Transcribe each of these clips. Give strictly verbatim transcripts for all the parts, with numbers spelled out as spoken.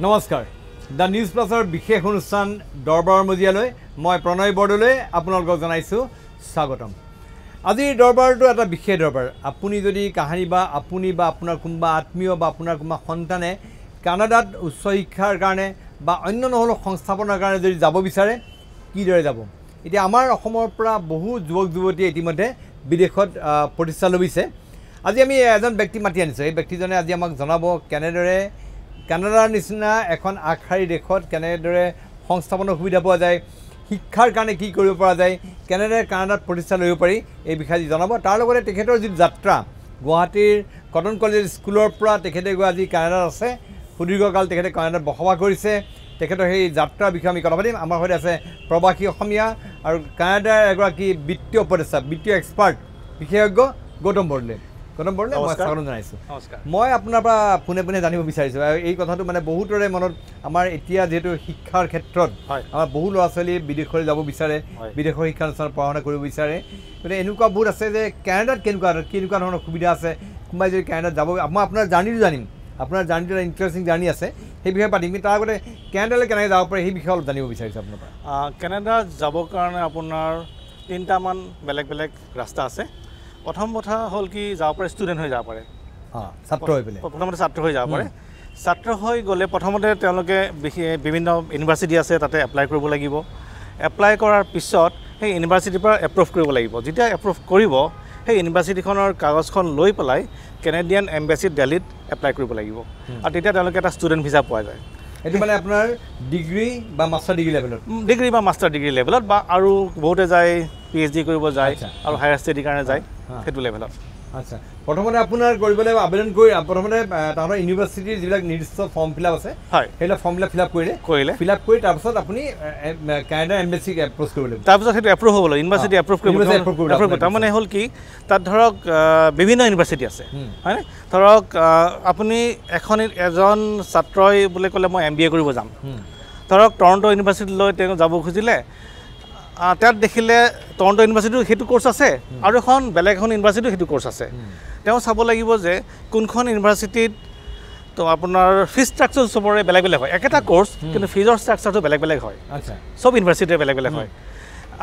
নমস্কাৰ, the news প্লাছৰ বিশেষ অনুষ্ঠান দৰবাৰৰ মজিয়ালৈ মই প্ৰণয় বৰদলৈ আপোনালোকক জনাইছোঁ স্বাগতম। আজিৰ দৰবাৰটো এটা বিশেষ দৰবাৰ। আপুনি যদি কাহানি বা আপুনি বা আপোনাৰ কোনোবা আত্মীয় বা আপোনাৰ কোনোবা সন্তানে কানাডাত উচ্চ শিক্ষাৰ কাৰণে বা অন্য নহ'লেও সংস্থাপনৰ কাৰণে যদি যাব বিচাৰে, কিদৰে যাব? এতিয়া আমাৰ অসমৰ পৰা বহু যুৱক যুৱতীয়ে ইতিমধ্যে বিদেশত প্ৰতিষ্ঠা লভিছে। আজি আমি এজন ব্যক্তি মাতি আনিছোঁ। এই ব্যক্তিজনে আজি আমাক জনাব কেনেদৰে কানাডাৰ নিচিনা এখন আগশাৰী দেশত কেনেদৰে সংস্থাপনৰ সুবিধা পোৱা যায়, শিক্ষাৰ কাৰণে কি কৰিব পৰা যায়, কেনেদৰে কানাডাত প্ৰতিষ্ঠা ল'ব পাৰি, এই বিষয়ে আজি জনাব। তাৰ লগতে তেখেতৰ যি যাত্ৰা, গুৱাহাটীৰ কটন কলেজ স্কুলৰ পৰা তেখেতে গৈ আজি কানাডাত আছে, সুদীৰ্ঘকাল তেখেতে কানাডাত বসবাস কৰিছে, তেখেতৰ সেই যাত্ৰাৰ বিষয়ে আমি কথা পাতিম। আমাৰ সৈতে আছে প্ৰৱাসী অসমীয়া আৰু কানাডাৰ এগৰাকী বিত্তীয় উপদেষ্টা, বিত্তীয় এক্সপাৰ্ট, বিশেষজ্ঞ গৌতম বৰদলৈ। গৌতম বৰদলৈ, মই স্বাগতম জনাইছোঁ। মই আপোনাৰ পৰা পোনে পোনে জানিব বিচাৰিছোঁ এই কথাটো, মানে বহুতৰে মনত আমাৰ এতিয়া যিহেতু শিক্ষাৰ ক্ষেত্ৰত আমাৰ বহু ল'ৰা ছোৱালী বিদেশলৈ যাব বিচাৰে, বিদেশৰ শিক্ষানুষ্ঠানত পঢ়া শুনা কৰিব বিচাৰে। গতিকে এনেকুৱা বহুত আছে যে কানাডাত কেনেকুৱা কেনেকুৱা ধৰণৰ সুবিধা আছে, কোনোবাই যদি কানাডাত যাব, মই আপোনাৰ জাৰ্ণিটো জানিম, আপোনাৰ জাৰ্ণিটো এটা ইণ্টাৰেষ্টিং জাৰ্ণি আছে, সেই বিষয়ে পাতিম। কিন্তু তাৰ আগতে কানাডালৈ কেনেকৈ যাব পাৰে সেই বিষয়ে অলপ জানিব বিচাৰিছোঁ আপোনাৰ পৰা। কানাডাত যাবৰ কাৰণে আপোনাৰ তিনিটামান বেলেগ বেলেগ ৰাস্তা আছে। প্ৰথম কথা হ'ল কি, যাব পাৰে ষ্টুডেণ্ট হৈ যাব পাৰে, ছাত্ৰ হৈ পেলাই প্ৰথমতে ছাত্ৰ হৈ যাব পাৰে। ছাত্ৰ হৈ গ'লে প্ৰথমতে তেওঁলোকে বিভিন্ন ইউনিভাৰ্চিটি আছে, তাতে এপ্লাই কৰিব লাগিব। এপ্লাই কৰাৰ পিছত সেই ইউনিভাৰ্চিটিৰ পৰা এপ্ৰুভ কৰিব লাগিব। যেতিয়া এপ্ৰুভ কৰিব, সেই ইউনিভাৰ্চিটিখনৰ কাগজখন লৈ পেলাই কেনেডিয়ান এম্বেচিত দেলহিত এপ্লাই কৰিব লাগিব, আৰু তেতিয়া তেওঁলোকে এটা ষ্টুডেণ্ট ভিজা পোৱা যায়। এইটো মানে আপোনাৰ ডিগ্ৰী বা মাষ্টাৰ ডিগ্ৰী লেভেলত, ডিগ্ৰী বা মাষ্টাৰ ডিগ্ৰী লেভেলত, বা আৰু বহুতে যায় পি এইচ ডি কৰিব যায় আৰু হায়াৰ ষ্টাডিৰ কাৰণে যায়, সেইটো লেভেলত। আচ্ছা, প্ৰথমতে আপোনাৰ কৰিব লাগিব আবেদন কৰি প্ৰথমতে তাহাঁতৰ ইউনিভাৰ্চিটিৰ যিবিলাক নিৰ্দিষ্ট ফৰ্ম ফিল আপ আছে, হয়, সেইবিলাক ফৰ্ম বিলাক ফিল আপ কৰিলে কৰিলে ফিল আপ কৰি তাৰপিছত আপুনি কানাডাৰ এম্বেচিক এপ্ৰ'চ কৰিব লাগিব। তাৰপিছত সেইটো এপ্ৰুভ হ'ব লাগিব, ইউনিভাৰ্চিটি এপ্ৰুভ কৰিব এপ্ৰুভ। তাৰমানে হ'ল কি, তাত ধৰক বিভিন্ন ইউনিভাৰ্চিটি আছে, হয়নে? ধৰক আপুনি এখন এজন ছাত্ৰই বুলি ক'লে মই এম বি এ কৰিব যাম, ধৰক টৰণ্টো ইউনিভাৰ্চিটিলৈ তেওঁ যাব খুজিলে, তাত দেখিলে টৰণ্টো ইউনিভাৰ্চিটিতো সেইটো ক'ৰ্চ আছে আৰু এখন বেলেগ এখন ইউনিভাৰ্চিটিতো সেইটো ক'ৰ্চ আছে। তেওঁ চাব লাগিব যে কোনখন ইউনিভাৰ্চিটিত তো আপোনাৰ ফিজ ষ্ট্ৰাকচাৰ চবৰে বেলেগ বেলেগ হয়। একেটা ক'ৰ্চ কিন্তু ফিজৰ ষ্ট্ৰাকচাৰটো বেলেগ বেলেগ হয়, চব ইউনিভাৰ্চিটিৰে বেলেগ বেলেগ হয়।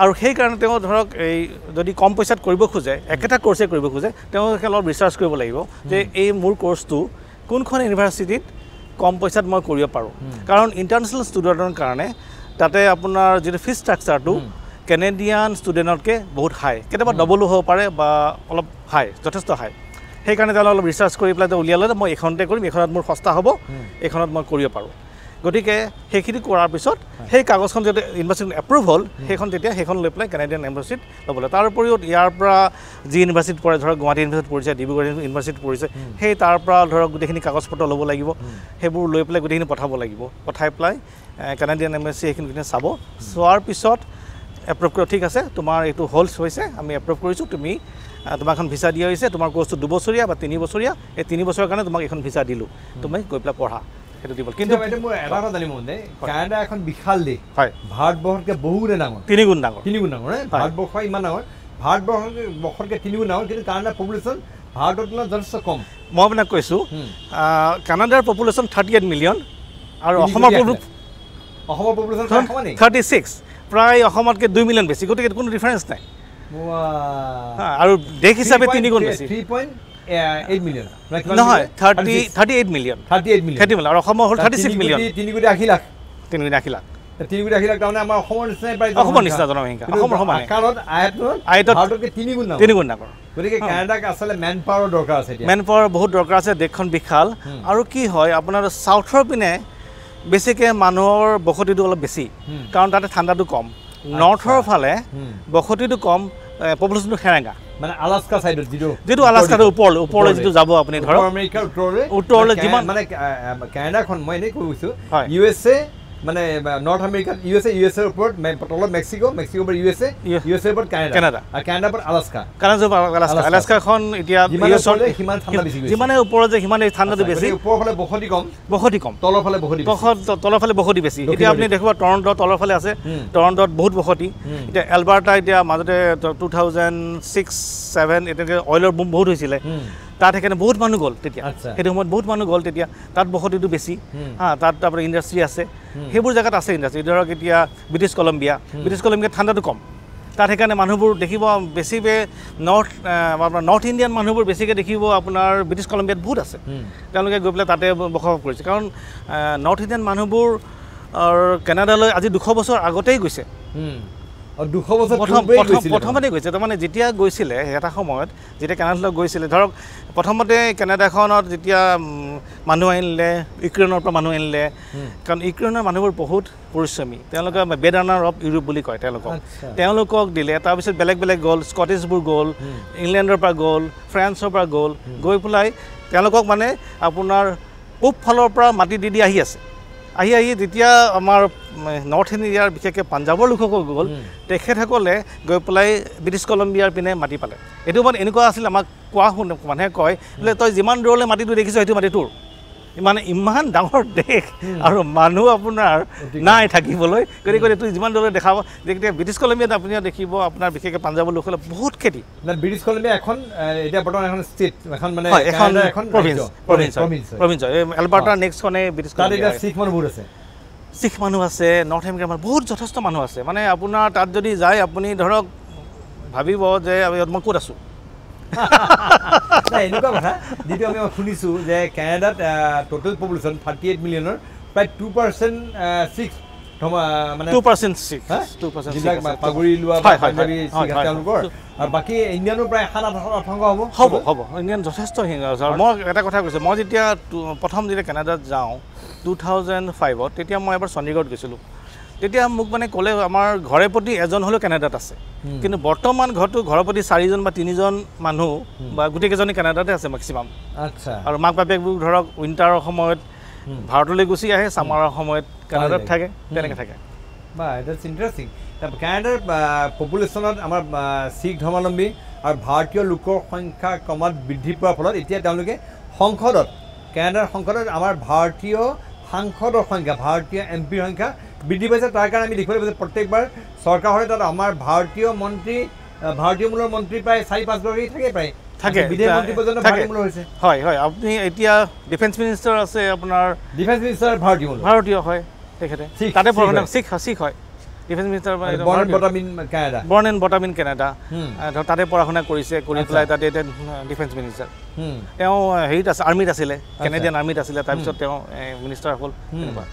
আৰু সেইকাৰণে তেওঁ ধৰক এই যদি কম পইচাত কৰিব খোজে, একেটা ক'ৰ্চে কৰিব খোজে, তেওঁলোকে অলপ ৰিচাৰ্চ কৰিব লাগিব যে এই মোৰ ক'ৰ্চটো কোনখন ইউনিভাৰ্চিটিত কম পইচাত মই কৰিব পাৰোঁ। কাৰণ ইণ্টাৰনেশ্যনেল ষ্টুডেণ্টৰ কাৰণে তাতে আপোনাৰ যিটো ফিজ ষ্ট্ৰাকচাৰটো কেনেডিয়ান ষ্টুডেণ্টতকৈ বহুত হাই, কেতিয়াবা ডবলো হ'ব পাৰে বা অলপ হাই, যথেষ্ট হাই। সেইকাৰণে তেওঁলোকে অলপ ৰিচাৰ্চ কৰি পেলাই উলিয়ালে মই এইখনতে কৰিম, এইখনত মোৰ সস্তা হ'ব, এইখনত মই কৰিব পাৰোঁ। গতিকে সেইখিনি কৰাৰ পিছত সেই কাগজখন যেতিয়া ইউনিভাৰ্চিটি এপ্ৰুভ হ'ল, সেইখন তেতিয়া সেইখন লৈ পেলাই কেনেডিয়ান এম্বাচিত ল'বলৈ। তাৰ উপৰিও ইয়াৰ পৰা যি ইউনিভাৰ্চিটিত পৰে, ধৰক গুৱাহাটী ইউনিভাৰ্চিটিত পঢ়িছে, ডিব্ৰুগড় ইউনিভাৰ্চিটিত পঢ়িছে, সেই তাৰ পৰা ধৰক গোটেইখিনি কাগজ পত্ৰ ল'ব লাগিব, সেইবোৰ লৈ পেলাই গোটেইখিনি পঠাব লাগিব। পঠাই পেলাই কেনেডিয়ান এম্বাচি সেইখিনি চাব, চোৱাৰ পিছত এপ্ৰুভ কৰিব, ঠিক আছে তোমাৰ এইটো হ'ল হৈছে, আমি এপ্ৰুভ কৰিছোঁ, তুমি তোমাক এখন ভিছা দিয়া হৈছে, তোমাৰ কোৰ্চটো দুবছৰীয়া বা তিনি বছৰীয়া, এই তিনি বছৰৰ কাৰণে তোমাক এইখন ভিছা দিলোঁ, তুমি গৈ পেলাই পঢ়া, সেইটো দিব। কিন্তু মোৰ এটা কথা জানিব মন যায়, কানাডা এখন বিশাল দেশ, হয়, ভাৰতবৰ্ষতকৈ বহুগুণে ডাঙৰ, তিনিগুণ ডাঙৰ, তিনিগুণ ডাঙৰ, ভাৰতবৰ্ষ ইমান ডাঙৰ, ভাৰতবৰ্ষতকৈ বৰ্ষতকৈ তিনিগুণ ডাঙৰ, কিন্তু কানাডাৰ পপুলেশ্যন ভাৰতৰ তুলনাত যথেষ্ট কম। মই আপোনাক কৈছোঁ, কানাডাৰ পপুলেশ্যন থাৰ্টি এইট মিলিয়ন আৰু অসমৰ অসমৰ পপুলেশ্যন থাৰ্টি ছিক্স, প্ৰায় অসমতকৈ দুই মিলিয়ন বেছি, গতিকে কোনো ডিফাৰেঞ্চ নাই। আৰু দেশ হিচাপে তিনিগুণ বেছি, নহয় thirty thirty eight million, thirty eight million, thirty million, আৰু অসমৰ হ'ল থাৰ্টি ছিক্স মিলিয়ন, তিনি কোটি আশী লাখ, তিনি কোটি আশী লাখ, তিনি কোটি আশী লাখ, তাৰমানে আমাৰ অসমৰ নিচিনাই প্ৰায়, অসমৰ নিচিনা জনসংখ্যা, অসমৰ সমান আকাৰত, আয়তনত আয়তত ভাৰততকৈ তিনিগুণ ডাঙৰ, তিনিগুণ ডাঙৰ। গতিকে কানাডাক আচলতে মেন পাৱাৰৰ দৰকাৰ আছে, মেন পাৱাৰ বহুত দৰকাৰ আছে, দেশখন বিশাল। আৰু কি হয়, আপোনাৰ চাউথৰ পিনে বেছিকৈ মানুহৰ বসতিটো অলপ বেছি, কাৰণ তাতে ঠাণ্ডাটো কম। নৰ্থৰ ফালে বসতিটো কম, পপুলেশ্যনটো সেৰেঙা, মানে আলাস্কা চাইডত যিটো যিটো আলাস্কাটো ওপৰলৈ ওপৰলৈ যিটো যাব আপুনি ধৰক আমেৰিকাৰ উত্তৰলৈ উত্তৰলৈ যিমান, মানে কানাডাখন মই এনেই কৈ গৈছোঁ, ইউ এছ এ মানে নৰ্থ আমেৰিকাত ইউ এছ এ, ইউ এছ এৰ ওপৰত তলত মেক্সিকো, মেক্সিকোৰ পৰা ইউ এছ এ, ইউ এছ এৰ ওপৰত কানাডা, কানাডা, আৰু কানাডাৰ ওপৰত আলাস্কা, কানাডাৰ আলাস্কা, আলাস্কাখন এতিয়া সিমান ঠাণ্ডা বেছি, যিমানে ওপৰত যায় সিমানে ঠাণ্ডাটো বেছি, ওপৰৰ ফালে বসতি কম, বসতি কম, তলৰ ফালে বসতি, তলৰ ফালে বসতি বেছি। এতিয়া আপুনি দেখিব টৰণ্ট তলৰ ফালে আছে, টৰণ্টত বহুত বসতি। এতিয়া এলবাৰ্টা এতিয়া মাজতে টু থাউজেণ্ড ছিক্স ছেভেন এনেকৈ অইলৰ বুম বহুত হৈছিলে, তাত সেইকাৰণে বহুত মানুহ গ'ল তেতিয়া, সেইটো সময়ত বহুত মানুহ গ'ল তেতিয়া, তাত বসতিটো বেছি। হা, তাত আপোনাৰ ইণ্ডাষ্ট্ৰি আছে, সেইবোৰ জেগাত আছে ইণ্ডাষ্ট্ৰি। ধৰক এতিয়া ব্ৰিটিছ কলম্বিয়া, ব্ৰিটিছ কলম্বিয়াত ঠাণ্ডাটো কম, তাত সেইকাৰণে মানুহবোৰ দেখিব বেছিকৈ নৰ্থ আপোনাৰ নৰ্থ ইণ্ডিয়ান মানুহবোৰ বেছিকৈ দেখিব আপোনাৰ ব্ৰিটিছ কলম্বিয়াত বহুত আছে। তেওঁলোকে গৈ পেলাই তাতে বসবাস কৰিছে, কাৰণ নৰ্থ ইণ্ডিয়ান মানুহবোৰ কানাডালৈ আজি দুশ বছৰ আগতেই গৈছে। দুশ বছৰ প্ৰথম প্ৰথমতে গৈছে, তাৰমানে যেতিয়া গৈছিলে এটা সময়ত যেতিয়া কানাডালৈ গৈছিলে, ধৰক প্ৰথমতে কানাডাখনত যেতিয়া মানুহ আনিলে, ইউক্ৰেইনৰ পৰা মানুহ আনিলে, কাৰণ ইউক্ৰেইনৰ মানুহবোৰ বহুত পৰিশ্ৰমী, তেওঁলোকে বেড ৰানাৰ অফ ইউৰোপ বুলি কয় তেওঁলোকক, তেওঁলোকক দিলে। তাৰপিছত বেলেগ বেলেগ গ'ল, স্কটিছবোৰ গ'ল, ইংলেণ্ডৰ পৰা গ'ল, ফ্ৰান্সৰ পৰা গ'ল, গৈ পেলাই তেওঁলোকক মানে আপোনাৰ পূব ফালৰ পৰা মাটি দি দি আহি আছে। আহি আহি যেতিয়া আমাৰ নৰ্থ ইণ্ডিয়াৰ বিশেষকৈ পাঞ্জাৱৰ লোকসকল গ'ল, তেখেতসকলে গৈ পেলাই ব্ৰিটিছ কলম্বিয়াৰ পিনে মাটি পালে। এইটো মানে এনেকুৱা আছিল, আমাক কোৱা শুন মানুহে কয় বোলে তই যিমান দূৰলৈ মাটিটো দেখিছ সেইটো মাটি তোৰ। মানে ইমান ডাঙৰ দেশ আৰু মানুহ আপোনাৰ নাই থাকিবলৈ, গতিকে তুই যিমান দূৰলৈ দেখাব। যেতিয়া ব্ৰিটিছ কলম্বিয়াত আপুনি দেখিব আপোনাৰ বিশেষকৈ পাঞ্জাৱৰ লোকসকলে বহুত খেতি। ব্ৰিটিছ কলম্বিয়া এখন এতিয়া বৰ্তমান এখন ষ্টেট, এখন মানে এখন প্ৰভিন্স, প্ৰভিন্স প্ৰভিন্স এলবাৰ্টাৰ নেক্সটখনে ব্ৰিটিছ কলম্বিয়া। শিখ মানুহ বহুত আছে, শিখ মানুহ আছে, নৰ্থ আমেৰিকাৰ মানুহ বহুত যথেষ্ট মানুহ আছে। মানে আপোনাৰ তাত যদি যায় আপুনি ধৰক ভাবিব যে মই ক'ত আছোঁ। নাই, এনেকুৱা কথা যিটো আমি শুনিছোঁ যে কানাডাত টোটেল পপুলেশ্যন থাৰ্টি এইট মিলিয়নৰ প্ৰায় টু পাৰ্চেণ্ট ছিক্স মানে two percent six two percent যিবিলাক পাগুৰি লোৱা পাঞ্জাবী তেওঁলোকৰ, আৰু বাকী ইণ্ডিয়ানো প্ৰায় সাত আঠ শতাংশ হ'ব হ'ব হ'ব ইণ্ডিয়ান যথেষ্ট। মই এটা কথা কৈছোঁ, মই যেতিয়া প্ৰথম যেতিয়া কানাডাত যাওঁ টু থাউজেণ্ড ফাইভত, তেতিয়া মই এবাৰ চণ্ডীগড়ত গৈছিলোঁ। তেতিয়া মোক মানে ক'লে আমাৰ ঘৰে প্ৰতি এজন হ'লেও কানাডাত আছে, কিন্তু বৰ্তমান ঘৰটো ঘৰৰ প্ৰতি চাৰিজন বা তিনিজন মানুহ বা গোটেইকেইজনে কানাডাতে আছে মেক্সিমাম। আচ্ছা। আৰু মাক বাপেকবোৰ ধৰক উইণ্টাৰৰ সময়ত ভাৰতলৈ গুচি আহে, ছামাৰৰ সময়ত কানাডাত থাকে, তেনেকৈ থাকে। বা that's interesting. কানাডাৰ পপুলেশ্যনত আমাৰ শিখ ধৰ্মাৱলম্বী আৰু ভাৰতীয় লোকৰ সংখ্যা ক্ৰমাৎ বৃদ্ধি পোৱাৰ ফলত এতিয়া তেওঁলোকে সংসদত, কানাডাৰ সংসদত আমাৰ ভাৰতীয় সাংসদৰ সংখ্যা, ভাৰতীয় এম পিৰ সংখ্যা বৃদ্ধি পাইছে। তাৰ কাৰণে আমি দেখিবলৈ পাইছোঁ প্ৰত্যেকবাৰ চৰকাৰ হ'লে তাত আমাৰ ভাৰতীয় মন্ত্ৰী, ভাৰতীয় মূলৰ মন্ত্ৰী প্ৰায় চাৰি পাঁচগৰাকী থাকে, প্ৰায় থাকে, বিদেশ মন্ত্ৰী পৰ্যন্ত ভাৰতীয় মূলৰ হৈছে। হয় হয়, আপুনি এতিয়া ডিফেন্স মিনিষ্টাৰ আছে আপোনাৰ, ডিফেন্স মিনিষ্টাৰ ভাৰতীয় মূলৰ, ভাৰতীয় হয় তেখেতে, তাতে পঢ়া শিখ শিখ হয় defence minister, born and brought up in Canada, born and brought up in Canada, তাতে পঢ়া শুনা কৰিছে, কৰি পেলাই তাতে এতিয়া ডিফেন্স মিনিষ্টাৰ। তেওঁ হেৰিত আছে, আৰ্মিত আছিলে, কেনেডিয়ান আৰ্মিত আছিলে, তাৰপিছত তেওঁ মিনিষ্টাৰ হ'ল। তেনেকুৱা